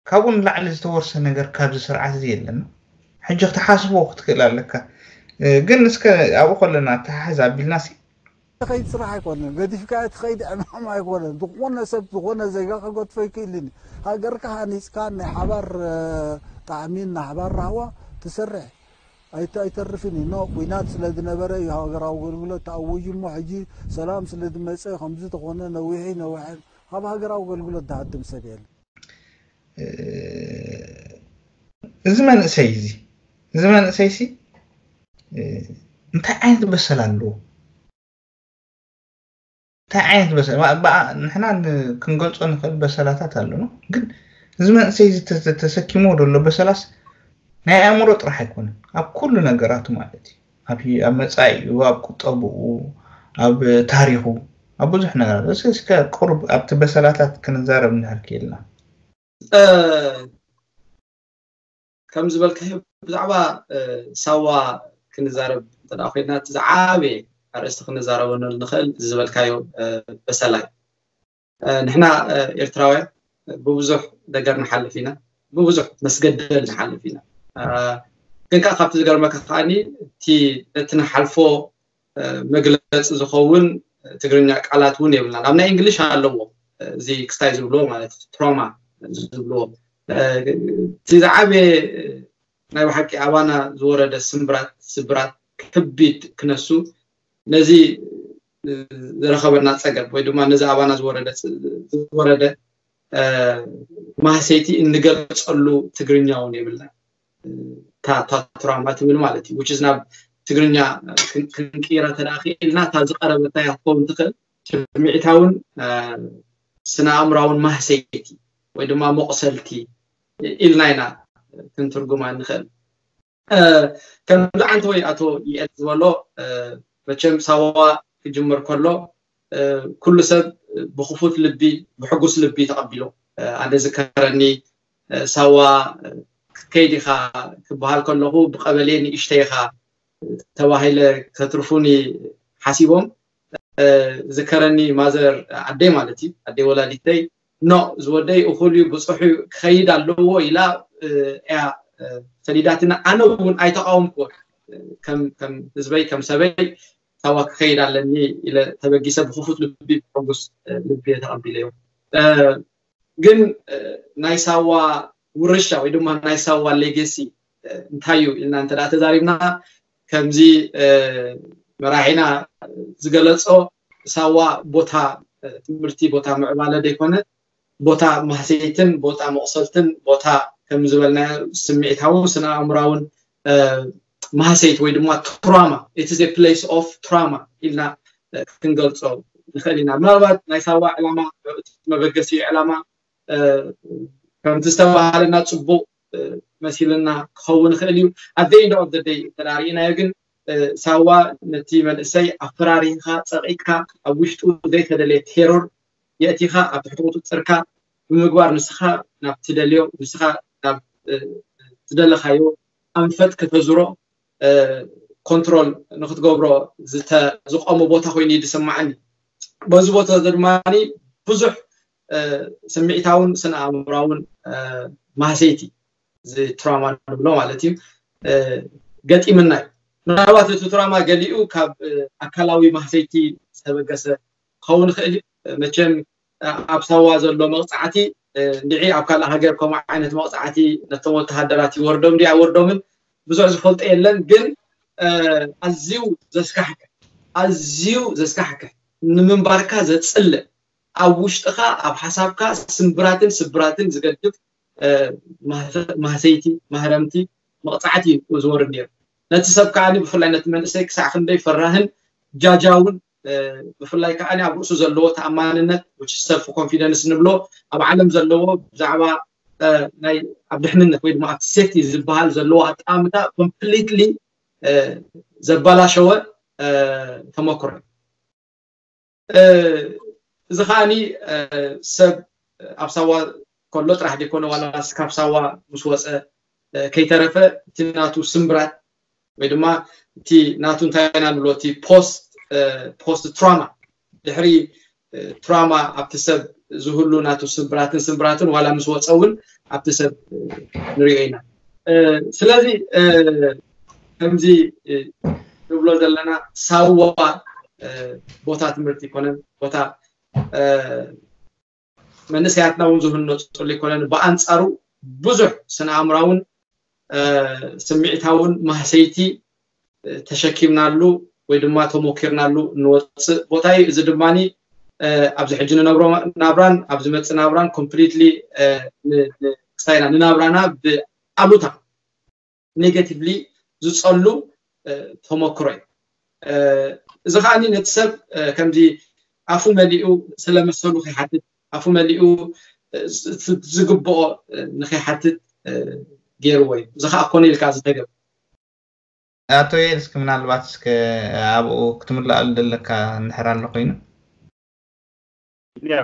ካብኡ ንላዕሊ ዝተወርሰ ነገር ካብዚ ስርዓት እዚ የለን ሕጂ ክትሓስቦ ክትክእል ኣለካ ግን እስከ ኣብኡ ከለና ተሓሕዝ ኣቢልና ሲ ከይድ ስራሕ ኣይኮነን ገዲፍካ ትኸይድ ዕማም ኣይኮነን ዝኾነ ሰብ ዝኾነ ዜጋ ከገድፎ ይክእልን ሃገርካ ሃኒፅካ ናይ ሓባር ጣዕሚን ናይ ሓባር ራህዋ ትሰርሕ ኣይተርፍን እዩ ኖ ኩናት ስለ ዝነበረ እዩ ሃገራዊ ኣገልግሎት ተኣውዩ እሞ ሕጂ ሰላም ስለ ዝመፀ ከምዚ ተኾነ ነዊሒ ነውሐ ካብ ሃገራዊ ኣገልግሎት ዝሃድም ሰብ የለ እዚ መንእሰይ እዚ እዚ መንእሰይ ሲ እንታይ ዓይነት በሰል ኣለዎ እንታይ ዓይነት በሰል ንሕና ክንገልፆ ንኽእል በሰላታት ኣለና ግን እዚ መንእሰይ ተሰኪሞ ዘሎ በሰላስ ናይ ኣእምሮ ጥራሕ ኣይኮነን ኣብ ኩሉ ነገራቱ ማለት እዩ ኣብ መፃኢኡ ኣብ ቁጠብኡ ኣብ ታሪኹ ኣብ ብዙሕ ነገራት እስከ ቁሩብ ኣብቲ በሰላታት ክንዛረብ እንድሕር ክኢልና ከም ዝበልካዮ ብዛዕባ ሳዋ ክንዛረብ እንተ ኮይና እቲ ዝዓበየ ኣርእስቲ ክንዛረበሉ ንኽእል ዝበልካዮ በሰላይ ንሕና ኤርትራውያን ብብዙሕ ነገር ንሓልፍ ኢና ብብዙሕ መስገደል ንሓልፍ ኢና ግን ከዓ ካብቲ ዝገርመካ ከዓኒ እቲ ነቲ ንሓልፎ መግለፂ ዝኸውን ትግርኛ ቃላት እውን የብልና ኣብ ናይ እንግሊሽ ኣለዎ እዚ ክስታይ ዝብልዎ ማለት ትሮማ ዝብልዎ እቲ ዝዓበየ ናይ ብሓቂ ኣባና ዝወረደ ስምብራት ስብራት ከቢድ ክነሱ ነዚ ዝረኸበና ፀገብ ወይ ድማ ነዚ ኣባና ዝወረደ ዝወረደ ማህሰይቲ እንገልፀሉ ትግርኛ እውን የብልና ታትራማ ትብል ማለት እዩ which is ናብ ትግርኛ ክንቅይራ ተደኣ ክኢልና እታ ዝቀረበታ እያ ክትኸውን ትኽእል ስምዒታውን ስነ ኣእምራውን ማህሰይቲ ወይ ድማ መቁሰልቲ ኢልና ኢና ክንትርጉማ ንኽእል። ከምዚ ዓንተወይ ኣቶ ይኤል ዝበሎ፣ መቸም ሳዋ ክጅምር ከሎ ኩሉ ሰብ ብክፉት ልቢ፣ ብሕጉስ ልቢ ተቐቢሎ። ኣነ ዝከረኒ፣ ሳዋ ክትከይድ ኢኻ ክበሃል ከለኹ፣ ብቐበሌ ንእሽተይ ኢኻ ተባሂለ፣ ከትርፉኒ ሓሲቦም። ዝከረኒ ማዘር፣ ኣደይ ማለት እዩ፣ ኣደይ ወላዲተይ፣ ኖ፣ ዝወደይ እኹል እዩ፣ ብፅሑ ክኸይድ ኣለዎ ኢላ እያ ሰዲዳትና። ኣነ እውን ኣይተቃወምኩ። ከም ህዝበይ፣ ከም ሰበይ፣ ሳዋ ክኸይድ ኣለኒ ኢለ ተበጊሰ፣ ብክፉት ልቢ፣ ብሕጉስ ልቢ ተቐቢለዮ። ግን ናይ ሳዋ ውርሻ ወይ ድማ ናይ ሳዋ ሌገሲ እንታይ እዩ ኢልና እንተ ተዛሪብና፣ ከምዚ መራሒና ዝገለጾ፣ ሳዋ ቦታ ትምህርቲ፣ ቦታ ምዕባለ ዘይኮነ፣ ቦታ ማህሰይትን ቦታ መቕሰልትን፣ ቦታ ከም ዝበልናዮ ስምዒታውን ስነ ኣእምራውን ማህሰይት ወይ ድማ ትራማ፣ it is a place of trauma ኢልና ክንገልጾ ንኽእል ኢና። ምናልባት ናይ ሳዋ ዕላማ፣ እቲ መበገሲ ዕላማ ከምቲ ዝተባሃለና ጽቡቕ መሲልና ክኸውን ይኽእል እዩ። At the end of the day እንተ ርኢናዮ ግን፣ ሳዋ ነቲ መንእሰይ ኣፈራሪህካ፣ ጸቒጥካ፣ ኣብ ውሽጡ ዘይተደለየ ቴሮር የእቲኻ፣ ኣብ ትሕቲ ቁጽጽርካ ብምግባር፣ ንስኻ ናብ ትደልዮ፣ ንስኻ ናብ ዝደለኻዮ ኣንፈት ከተዝሮ፣ ኮንትሮል ንክትገብሮ ዝቆመ ቦታ ኮይኑ እዩ ዝስማዓኒ። በዚ ቦታ ድማ ብዙሕ ስምዒታውን ስነ ኣእምራውን ማህሰይቲ፣ እዚ ትራማ ንብሎ ማለት እዩ፣ ገጢምና እዩ። ምናልባት እቲ ትራማ ገሊኡ ካብ ኣካላዊ ማህሰይቲ ዝተበገሰ ክኸውን ይኽእል እዩ። መቸም ኣብ ሳዋ ዘሎ መቕፃዕቲ፣ እንድዒ ኣብ ካልእ ሃገር ከምኡ ዓይነት መቕፃዕቲ ነቶም ወተሃደራት ይወርዶም ድዩ ኣይወርዶምን ብዙሕ ዝፈልጦ የለን። ግን ኣዝዩ ዘስካሕክሕ፣ ኣዝዩ ዘስካሕክሕ፣ ንምንባርካ ዘፅልእ፣ ኣብ ውሽጥኻ፣ ኣብ ሓሳብካ ስምብራትን ስብራትን ዝገድፍ ማህሰይቲ፣ ማህረምቲ፣ መቕፃዕቲ እዩ ዝወርድ ነይሩ። ነቲ ሰብ ከዓኒ፣ ብፍላይ ነቲ መንእሰይ፣ ክሳዕ ክንደይ ፈራህን ጃጃውን፣ ብፍላይ ከዓኒ ኣብ ርእሱ ዘለዎ ተኣማንነት፣ ሰልፍ ኮንፊደንስ ንብሎ፣ ኣብ ዓለም ዘለዎ ብዛዕባ ናይ ኣብ ድሕንነት ወይ ድማ ኣብ ሴፍቲ ዝበሃል ዘለዎ ኣጠማምታ ኮምፕሊትሊ ዘባላሸወ ተመክሮ። እዚ ከዓኒ ሰብ ኣብ ሳዋ ከሎ ጥራሕ ዘይኮነ፣ ዋላ ካብ ሳዋ ምስ ወፀ ከይተረፈ፣ እቲ ናቱ ስምብራት ወይ ድማ እቲ ናቱ እንታይ ኢና ንብሎ፣ እቲ ፖስት ፖስት ትራማ፣ ድሕሪ ትራማ ኣብቲ ሰብ ዝህሉ ናቱ ስምብራትን ስምብራትን ዋላ ምስ ወፀ እውን ኣብቲ ሰብ ንሪኦ ኢና። ስለዚ ከምዚ ንብሎ ዘለና፣ ሳዋ ቦታ ትምህርቲ ይኮነን፣ ቦታ መንእሰያትና እውን ዝህነፁሉ ይኮነን። ብኣንፃሩ ብዙሕ ስነ ኣእምራውን ስምዒታውን ማህሰይቲ ተሸኪምናሉ ወይ ድማ ተሞኪርናሉ እንወፅእ ቦታ እዩ። እዚ ድማ ኣብዚ ሕጂ ንነብሮ ናብራን ኣብ ዝመፅእ ናብራን ኮምፕሊትሊ ክስታይና ንናብራና ብኣሉታ፣ ኔጋቲቭሊ ዝፀሉ ተመክሮ እዩ። እዚ ከዓኒ ነቲ ሰብ ከምዚ ኣፉ መሊኡ ስለመሰሉ ከይሓትት፣ ኣፉ መሊኡ ዝግብኦ ንከይሓትት ገይርዎ እዩ። እዚ ከዓ ኮነ ኢልካ ዝተገብረ። ኣቶ ዮኤል፣ እስኪ ምናልባት እስከ ኣብኡ ክትምልኣሉ ዘለካ እንድሕር ኣሎ ኮይኑ። ያ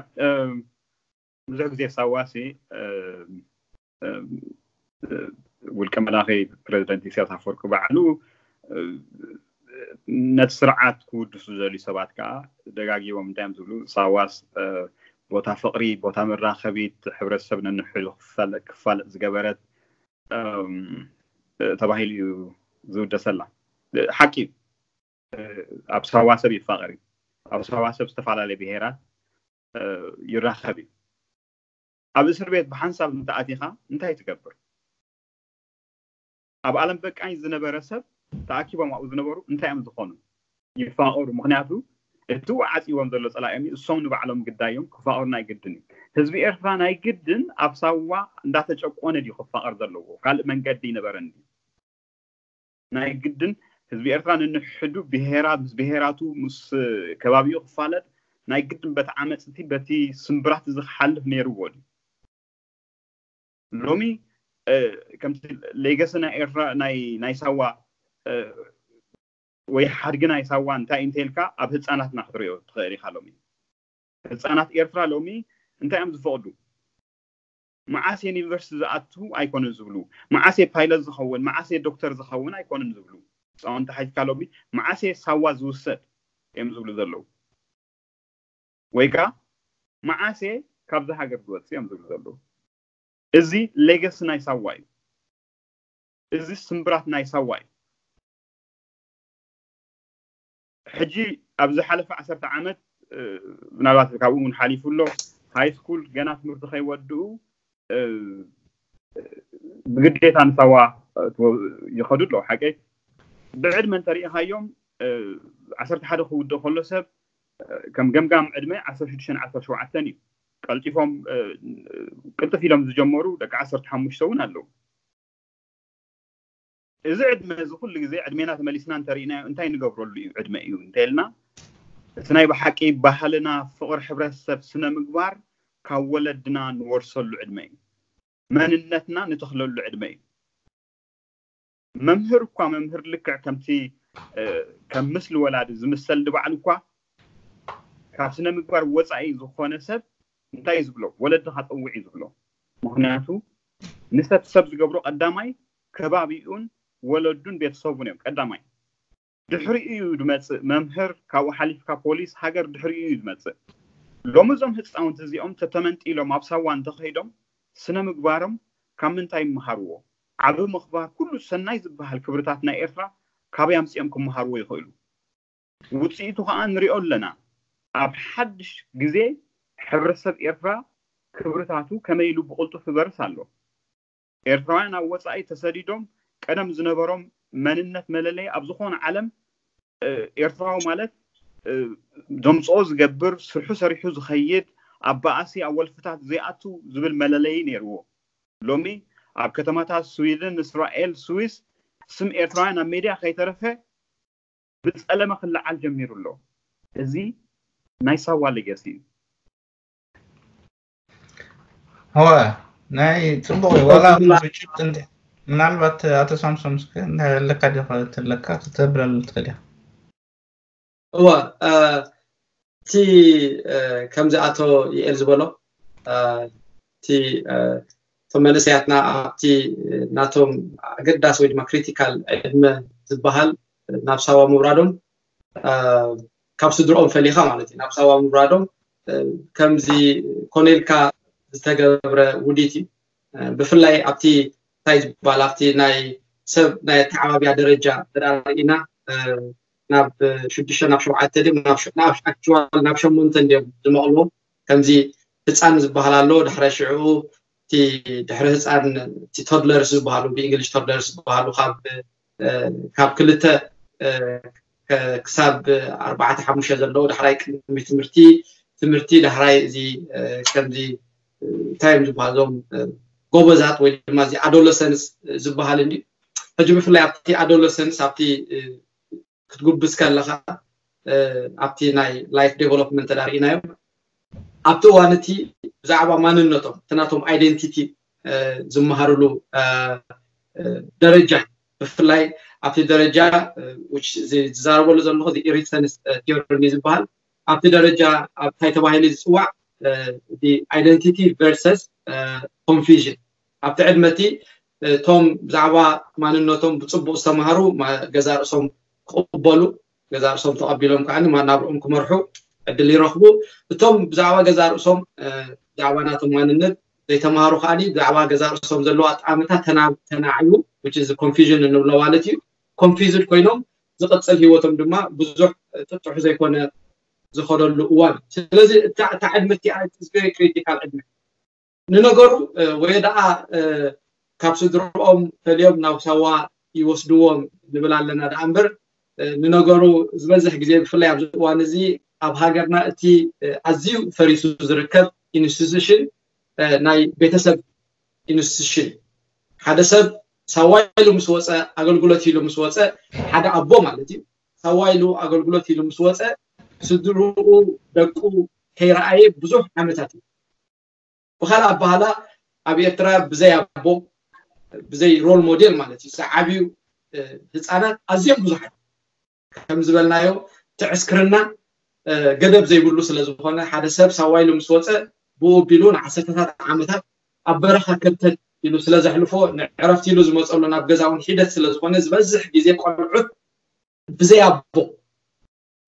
ብዙሕ ግዜ ሳዋሲ ውልቀ መላኺ ፕረዚደንት ኢሳያስ ኣፈወርቂ ባዕሉ ነቲ ስርዓት ክውድሱ ዝደልዩ ሰባት ከዓ ደጋጊቦም እንታይ እዮም ዝብሉ? ሳዋስ ቦታ ፍቕሪ፣ ቦታ መራኸቢት፣ ሕብረተሰብ ነንሕዱ ክፋለጥ ዝገበረት ተባሂሉ እዩ ዝውደሰላ። ሓቂ እዩ። ኣብ ሳዋ ሰብ ይፋቐር እዩ። ኣብ ሳዋ ሰብ ዝተፈላለየ ብሄራት ይራኸብ እዩ። ኣብ እስር ቤት ብሓንሳብ እንተኣቲኻ እንታይ ትገብር? ኣብ ኣለም በቃኝ ዝነበረ ሰብ ተኣኪቦም ኣብኡ ዝነበሩ እንታይ እዮም ዝኾኑ? ይፋቐሩ። ምኽንያቱ እቲ ዓፂዎም ዘሎ ፀላእዮም እሶም ንባዕሎም ግዳዮም ክፋቐሩ ናይ ግድን እዩ። ህዝቢ ኤርትራ ናይ ግድን ኣብ ሳዋ እንዳተጨቆነ ድዩ ክፋቐር ዘለዎ? ካልእ መንገዲ ይነበረን ድዩ? ናይ ግድን ህዝቢ ኤርትራ ንንሕዱ ብሄራ ምስ ብሄራቱ ምስ ከባቢኡ ክፋለጥ ናይ ግድን በቲ ዓመፅቲ በቲ ስምብራት እዚ ክሓልፍ ነይርዎ ድዩ? ሎሚ ከምቲ ሌገሲ ናይ ኤርትራ ናይ ናይ ሳዋ ወይ ሓድጊ ናይ ሳዋ እንታይ እንተልካ ኣብ ህፃናትና ክትሪኦ ትኽእል ኢኻ። ሎሚ ህፃናት ኤርትራ ሎሚ እንታይ እዮም ዝፈቕዱ? መዓስ ዩኒቨርሲቲ ዝኣቱ ኣይኮኑን ዝብሉ፣ መዓስ ፓይለት ዝኸውን፣ መዓስ ዶክተር ዝኸውን ኣይኮኑን ዝብሉ። ህፃውንቲ ሓይካ ሎሚ መዓስ ሳዋ ዝውሰድ እዮም ዝብሉ ዘለዉ፣ ወይ ከዓ መዓስ ካብዚ ሃገር ዝወፅእ እዮም ዝብሉ ዘለዉ። እዚ ሌገሲ ናይ ሳዋ እዩ። እዚ ስምብራት ናይ ሳዋ እዩ። ሕጂ ኣብ ዝሓለፈ ዓሰርተ ዓመት ምናልባት ካብኡ እውን ሓሊፉ ኣሎ። ሃይ ስኩል ገና ትምህርቲ ከይወድኡ ብግዴታ ንሳዋ ይኸዱ ኣለዉ። ሓቀይ ብዕድመ እንተሪኢኻዮም ዓሰርተ ሓደ ክውድእ ከሎ ሰብ ከም ገምጋም ዕድመ ዓሰርተ ሽዱሽተ ዓሰርተ ሸውዓተ እዩ። ቀልጢፎም ቅልጥፍ ኢሎም ዝጀመሩ ደቂ ዓሰርተ ሓሙሽተ እውን ኣለዉ። እዚ ዕድመ እዚ ኩሉ ግዜ ዕድሜና ተመሊስና እንተሪእናዮ እንታይ ንገብረሉ እዩ ዕድመ እዩ እንተልና፣ እቲ ናይ ብሓቂ ባህልና፣ ፍቕሪ ሕብረተሰብ፣ ስነ ምግባር ካብ ወለድና ንወርሰሉ ዕድመ እዩ። መንነትና ንተኽለሉ ዕድመ እዩ። መምህር እኳ መምህር ልክዕ ከምቲ ከም ምስሊ ወላዲ ዝምሰል ንባዕሉ እኳ ካብ ስነ ምግባር ወፃኢ ዝኾነ ሰብ እንታይ እዩ ዝብሎ? ወለድኻ ፀውዕ እዩ ዝብሎ። ምክንያቱ ንሰብ ሰብ ዝገብሮ ቀዳማይ ከባቢኡን ወለዱን ቤተሰቡን እዮም ቀዳማይ። ድሕሪኡ እዩ ዝመፅእ መምህር፣ ካብኡ ሓሊፍካ ፖሊስ፣ ሃገር ድሕሪኡ እዩ ዝመፅእ። ሎሚ እዞም ህፃውንቲ እዚኦም ተተመንጢሎም ኣብ ሳዋ እንተኸይዶም ስነ ምግባሮም ካብ ምንታይ ይመሃርዎ? ዓቢ ምኽባር፣ ኩሉ ሰናይ ዝበሃል ክብርታት ናይ ኤርትራ ካበይ ኣምፂኦም ክመሃርዎ ይኽእሉ? ውፅኢቱ ከዓ ንሪኦ ኣለና። ኣብ ሓድሽ ግዜ ሕብረተሰብ ኤርትራ ክብርታቱ ከመይ ኢሉ ብቕልጡፍ ይበርስ ኣሎ። ኤርትራውያን ኣብ ወፃኢ ተሰዲዶም ቀደም ዝነበሮም መንነት መለለይ ኣብ ዝኾነ ዓለም ኤርትራዊ ማለት ዘምፅኦ ዝገብር፣ ስርሑ ሰሪሑ ዝኸይድ፣ ኣብ ባእሲ ኣብ ወልፍታት ዘይኣቱ ዝብል መለለይ ነይርዎ። ሎሚ ኣብ ከተማታት ስዊድን፣ እስራኤል፣ ስዊስ ስም ኤርትራውያን ኣብ ሜድያ ከይተረፈ ብፀለመ ክለዓል ጀሚሩ ኣሎ። እዚ ናይ ሳዋ ሌገሲ እዩ። እወ ናይ ፅቡቅ እዩ። ዋላ ብጭብጥ እንዲ ምናልባት ኣቶ ሳምሶም እስከ ኣለካ ዲ ተለካ ክተብለሉ ትኽእል ኢኻ። እወ እቲ ከምዚ ኣቶ ይኤል ዝበሎ እቲ እቶም መንእሰያትና ኣብቲ ናቶም ኣገዳሲ ወይ ድማ ክሪቲካል ዕድመ ዝበሃል ናብ ሳዋ ምውራዶም ካብ ስድርኦም ፈሊኻ ማለት እዩ ናብ ሳዋ ምውራዶም ከምዚ ኮነ ኢልካ ዝተገብረ ውዲት እዩ። ብፍላይ ኣብቲ እንታይ ዝበሃል ኣብቲ ናይ ሰብ ናይ ኣተዓባብያ ደረጃ እንተ ርኢና ናብ ሽዱሽተ ናብ ሸውዓተ ድም ናብ ኣክቹዋል ናብ ሸሞንተ እንዲዮም ዝመቕልዎ። ከምዚ ህፃን ዝበሃል ኣሎ፣ ድሕረ ሽዕኡ እቲ ድሕሪ ህፃን እቲ ቶድለርስ ዝበሃሉ ብእንግሊሽ ቶድለርስ ዝበሃሉ ካብ ካብ ክልተ ክሳብ ኣርባዕተ ሓሙሽተ ዘለዉ ዳሕራይ ቅድሚ ትምህርቲ ትምህርቲ ዳሕራይ እዚ ከምዚ እንታይ እዮም ዝበሃሉ እዞም ጎበዛት ወይ ድማ እዚ ኣዶለሰንስ ዝበሃል እንዲ ሕጂ ብፍላይ ኣብቲ ኣዶለሰንስ ኣብቲ ክትጉብዝ ከለካ ኣብቲ ናይ ላይፍ ዴቨሎፕመንት ተዳርኢናዮም ኣብቲ እዋን እቲ ብዛዕባ ማንነቶም እቲ ናቶም ኣይደንቲቲ ዝመሃርሉ ደረጃ ብፍላይ ኣብቲ ደረጃ ዝዛረበሉ ዘለኹ ኢሪክሰንስ ቲዮሪ ዝበሃል ኣብቲ ደረጃ ኣብታይ ተባሂሉ ዝፅዋዕ ኣይደንቲቲ ቨርሰስ ኮንፊዥን ኣብቲ ዕድመ እቲ እቶም ብዛዕባ ማንነቶም ብፅቡቅ ዝተምሃሩ ገዛ ርእሶም ክቕበሉ ገዛ ርእሶም ተቐቢሎም ከዓ ናብርኦም ክመርሑ ዕድል ይረኽቡ። እቶም ብዛዕባ ገዛ ርእሶም ብዛዕባ ናቶም ማንነት ዘይተምሃሩ ከዓ ብዛዕባ ገዛ ርእሶም ዘለዋ ኣጠማምታ ተናዕዩ ኮንፊዥን እንብሎ ማለት እዩ። ኮንፊዝድ ኮይኖም ዝቕፅል ሂወቶም ድማ ብዙሕ ጥጡሕ ዘይኮነ ዝኸደሉ እዋን። ስለዚ እታ ዕድመ እቲኣ ክሪቲካል ዕድመ ንነገሩ ወይ ደኣ ካብ ስድርኦም ፈልዮም ናብ ሳዋ ይወስድዎም ንብል ኣለና ደኣ እምበር ንነገሩ ዝበዝሕ ግዜ ብፍላይ ኣብዚ እዋን እዚ ኣብ ሃገርና እቲ ኣዝዩ ፈሪሱ ዝርከብ ኢንስቲቱሽን ናይ ቤተሰብ ኢንስቲቱሽን ሓደ ሰብ ሳዋ ኢሉ ምስ ወፀ ኣገልግሎት ኢሉ ምስ ወፀ ሓደ ኣቦ ማለት እዩ ሳዋ ኢሉ ኣገልግሎት ኢሉ ምስ ወፀ ስድርኡ ደቁ ከይረኣየ ብዙሕ ዓመታት እዩ ብካልእ ኣባህላ ኣብ ኤርትራ ብዘይ ኣቦ፣ ብዘይ ሮል ሞዴል ማለት እዩ፣ ዝዓብዩ ህፃናት ኣዝዮም ብዙሓት። ከም ዝበልናዮ፣ እቲ ዕስክርና ገደብ ዘይብሉ ስለ ዝኾነ፣ ሓደ ሰብ ሳዋ ኢሉ ምስ ወፀ፣ ብኡ ኣቢሉ ንዓሰርተታት ዓመታት ኣብ በረኻ ከርተት ኢሉ ስለ ዘሕልፎ፣ ንዕረፍቲ ኢሉ ዝመፀሉ ናብ ገዛ እውን ሒደት ስለ ዝኾነ፣ ዝበዝሕ ግዜ ቆልዑት ብዘይ ኣቦ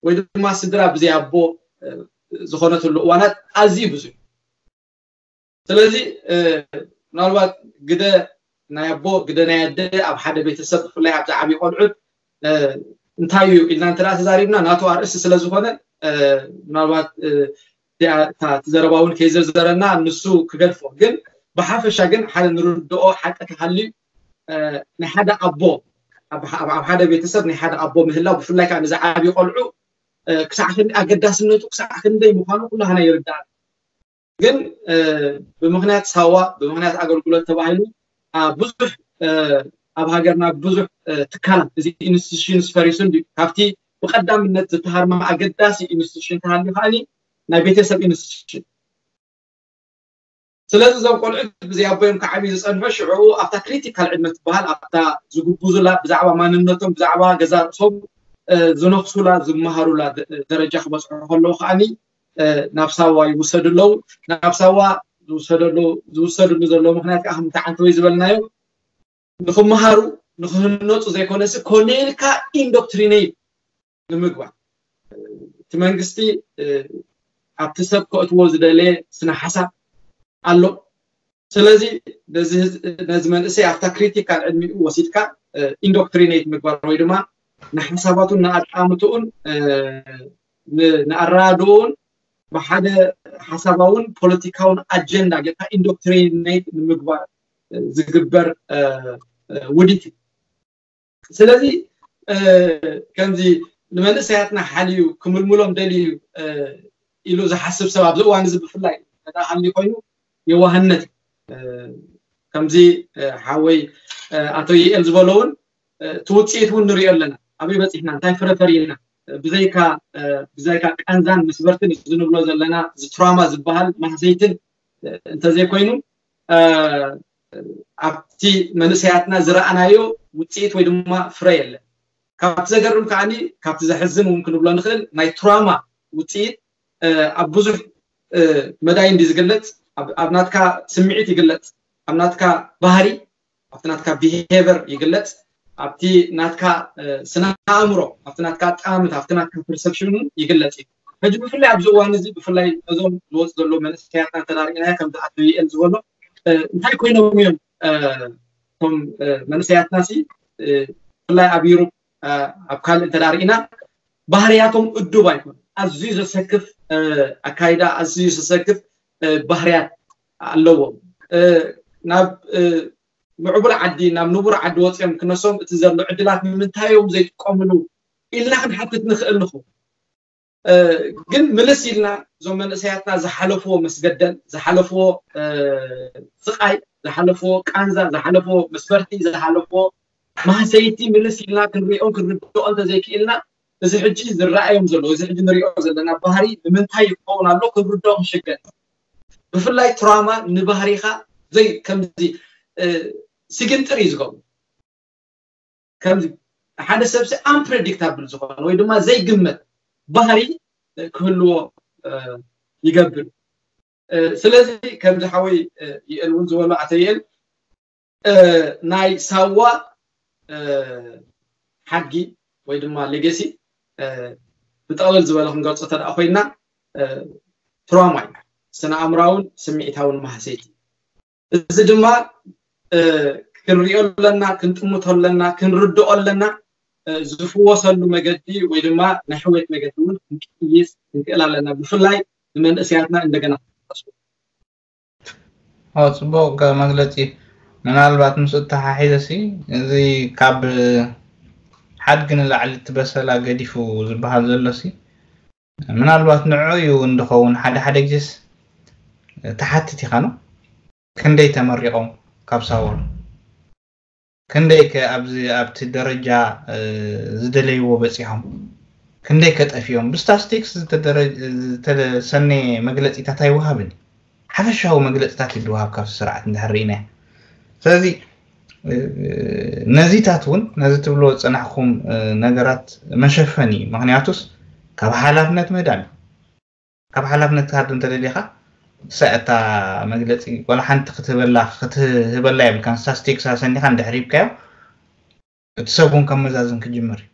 ወይ ድማ ስድራ ብዘይ ኣቦ ዝኾነትሉ እዋናት ኣዝዩ ብዙሕ። ስለዚ ምናልባት ግደ ናይ ኣቦ፣ ግደ ናይ ኣደ ኣብ ሓደ ቤተሰብ፣ ብፍላይ ኣብ ዝዓብዩ ቆልዑት እንታይ እዩ ኢልና እንተ ተዛሪብና፣ ናቱ ኣርእስቲ ስለ ዝኾነ፣ ምናልባት እቲ ዘረባ እውን ከይዘርዘረና ንሱ ክገድፎ። ግን ብሓፈሻ ግን ሓደ ንርድኦ ሓቂ ተሃልዩ፣ ናይ ሓደ ኣቦ፣ ኣብ ሓደ ቤተሰብ ናይ ሓደ ኣቦ ምህላው፣ ብፍላይ ከዓ ንዝዓብዩ ቆልዑ ክሳዕ ክንደይ ኣገዳስነቱ፣ ክሳዕ ክንደይ ምዃኑ ኩላህና ይርዳእ። ግን ብምኽንያት ሳዋ፣ ብምኽንያት ኣገልግሎት ተባሂሉ ብዙሕ ኣብ ሃገርና ብዙሕ ትካላት፣ እዚ ኢንስቲቱሽንስ ፈሪሱ እንዲ ካብቲ ብቀዳምነት ዝተሃርመ ኣገዳሲ ኢንስቲቱሽን ተሃልዩ ከዓኒ ናይ ቤተሰብ ኢንስቲቱሽን። ስለዚ እዞም ቆልዑት ብዘይ ኣቦዮም ክዓብዩ ዝፀንሑ ሽዑ ኣብታ ክሪቲካል ዕድመ ትበሃል ኣብታ ዝጉብዙላ ብዛዕባ ማንነቶም ብዛዕባ ገዛ ርእሶም ዝነኽሱላ ዝመሃሩላ ደረጃ ክበፅሑ ከለዉ ከዓኒ ናብ ሳዋ ይውሰዱ ኣለዉ። ናብ ሳዋ ዝውሰድሉ ዘለዉ ምክንያት ከዓ ከምቲ ዓንተወይ ዝበልናዮ ንክመሃሩ ንክህነፁ ዘይኮነሲ ኮነ ኢልካ ኢንዶክትሪኔት ንምግባር እቲ መንግስቲ ኣብቲ ሰብ ከእትዎ ዝደለየ ስነ ሓሳብ ኣሎ። ስለዚ ነዚ መንእሰይ ኣብታ ክሪቲካል ዕድሚኡ ወሲድካ ኢንዶክትሪኔት ምግባር ወይ ድማ ንሓሳባቱን ንኣጣምትኡን ንኣረዳድኡን ብሓደ ሓሳባውን ፖለቲካውን ኣጀንዳ ጌርካ ኢንዶክትሪኔት ንምግባር ዝግበር ውዲት እዩ። ስለዚ ከምዚ ንመንእሰያትና ሓልዩ ክምልምሎም ደልዩ ኢሉ ዝሓስብ ሰብ ኣብዚ እዋን እዚ ብፍላይ እንተ ሃልዩ ኮይኑ የዋህነት እዩ። ከምዚ ሓወይ ኣቶ ይኤል ዝበሎ እውን እቲ ውፅኢት እውን ንሪኦ ኣለና። ኣበይ በፂሕና፣ እንታይ ፍረ ፈሪና፣ ብዘይካ ብዘይካ ቃንዛን መስበርትን እዚ ንብሎ ዘለና እዚ ትራማ ዝበሃል ማህሰይትን እንተዘይኮይኑ ኣብቲ መንእሰያትና ዝረኣናዮ ውፅኢት ወይ ድማ ፍረ የለን። ካብቲ ዘገርም ከዓኒ ካብቲ ዘሕዝን እውን ክንብሎ ንኽእል ናይ ትራማ ውፅኢት ኣብ ብዙሕ መዳይ እንዲ ዝግለፅ ኣብ ናትካ ስምዒት ይግለፅ፣ ኣብ ናትካ ባህሪ፣ ኣብቲ ናትካ ቢሄቨር ይግለፅ፣ ኣብቲ ናትካ ስነ ኣእምሮ፣ ኣብቲ ናትካ ኣጠማምታ፣ ኣብቲ ናትካ ፐርሰፕሽን እውን ይግለፅ እዩ። ሕጂ ብፍላይ ኣብዚ እዋን እዚ ብፍላይ ነዞም ዝወፁ ዘለዉ መንእሰያትና እንተዳርኢናዮ ከምዚ ኣቶ ይኤል ዝበሎ እንታይ ኮይኖም እዮም እቶም መንእሰያትና ሲ ብፍላይ ኣብ ዩሮፕ ኣብ ካልእ እንተዳርኢና ባህርያቶም እዱብ ኣይኮኑ። ኣዝዩ ዘሰክፍ ኣካይዳ፣ ኣዝዩ ዘሰክፍ ባህርያት ኣለዎም። ናብ ምዕቡል ዓዲ ናብ ንቡር ዓዲ ወፅኦም ክነሶም እቲ ዘሎ ዕድላት ንምንታይ እዮም ዘይጥቀምሉ ኢልና ክንሓትት ንኽእል ንኹ። ግን ምልስ ኢልና እዞም መንእሰያትና ዝሓለፍዎ መስገደል፣ ዝሓለፍዎ ስቃይ፣ ዝሓለፍዎ ቃንዛ፣ ዝሓለፍዎ መስፈርቲ፣ ዝሓለፍዎ ማህሰይቲ ምልስ ኢልና ክንሪኦ ክንርድኦ እንተዘይክኢልና እዚ ሕጂ ዝረኣዮም ዘሎ እዚ ሕጂ ንሪኦ ዘለና ባህሪ ንምንታይ ይኸውን ኣሎ ክንርድኦ ክንሽገር። ብፍላይ ትራማ ንባህሪኻ ዘይ ከምዚ ስግንጥር እዩ ዝገብሩ። ከምዚ ሓደ ሰብ ሲ ኣምፕሬዲክታብል ዝኾነ ወይ ድማ ዘይግመት ባህሪ ክህልዎ ይገብር። ስለዚ ከምዚ ሓወይ ይእል እውን ዝበሎ ኣቶ ይእል ናይ ሳዋ ሓድጊ ወይ ድማ ሌገሲ ብጠቕለል ዝበለ ክንገልፆ ተደኣ ኮይና ትራማ እዩ። ስነ ኣእምራውን ስምዒታውን ማህሰይቲ። እዚ ድማ ክንሪኦ ኣለና፣ ክንጥምቶ ኣለና፣ ክንርድኦ ኣለና። ዝፍወሰሉ መገዲ ወይ ድማ ናይ ሕውየት መገዲ እውን ክንቅይስ ክንክእል ኣለና። ብፍላይ ንመንእሰያትና እንደገና ኦ ፅቡቅ መግለፂ። ምናልባት ምስ እተሓሒዘ ሲ እዚ ካብ ሓድጊ ንላዕሊ እቲ በሰላ ገዲፉ ዝበሃል ዘሎ ሲ ምናልባት ንዑ እዩ እንድኸውን ሓደ ሓደ ግዜስ ትሓትት ኢኻ ነው ክንደይ ተመሪቖም ካብ ሳዋ ክንደይ ከ ኣብዚ ኣብቲ ደረጃ ዝደለይዎ በፂሖም ክንደይ ከጠፊኦም ብስታስቲክስ ዝተሰነየ መግለፂታት ኣይወሃብን ሓፈሻዊ መግለፅታት ይድወሃብ ካብቲ ስርዓት እንድሕር ርኢናዮ። ስለዚ ነዚታት እውን ነዚ ትብሎ ዝፀናሕኩም ነገራት መሸፈኒ እዩ። ምክንያቱስ ካብ ሓላፍነት ምህዳም እዩ። ካብ ሓላፍነት ክትሃድም እንተደሊኻ እሳ እታ መግለፂ ወላ ሓንቲ ክትህበላ ክትህበላ የብልካን። ስታስቲክስ ኣሰኒኻ እንድሕር ሂብካዮ እቲ ሰብ እውን ከመዛዝን ክጅምር እዩ።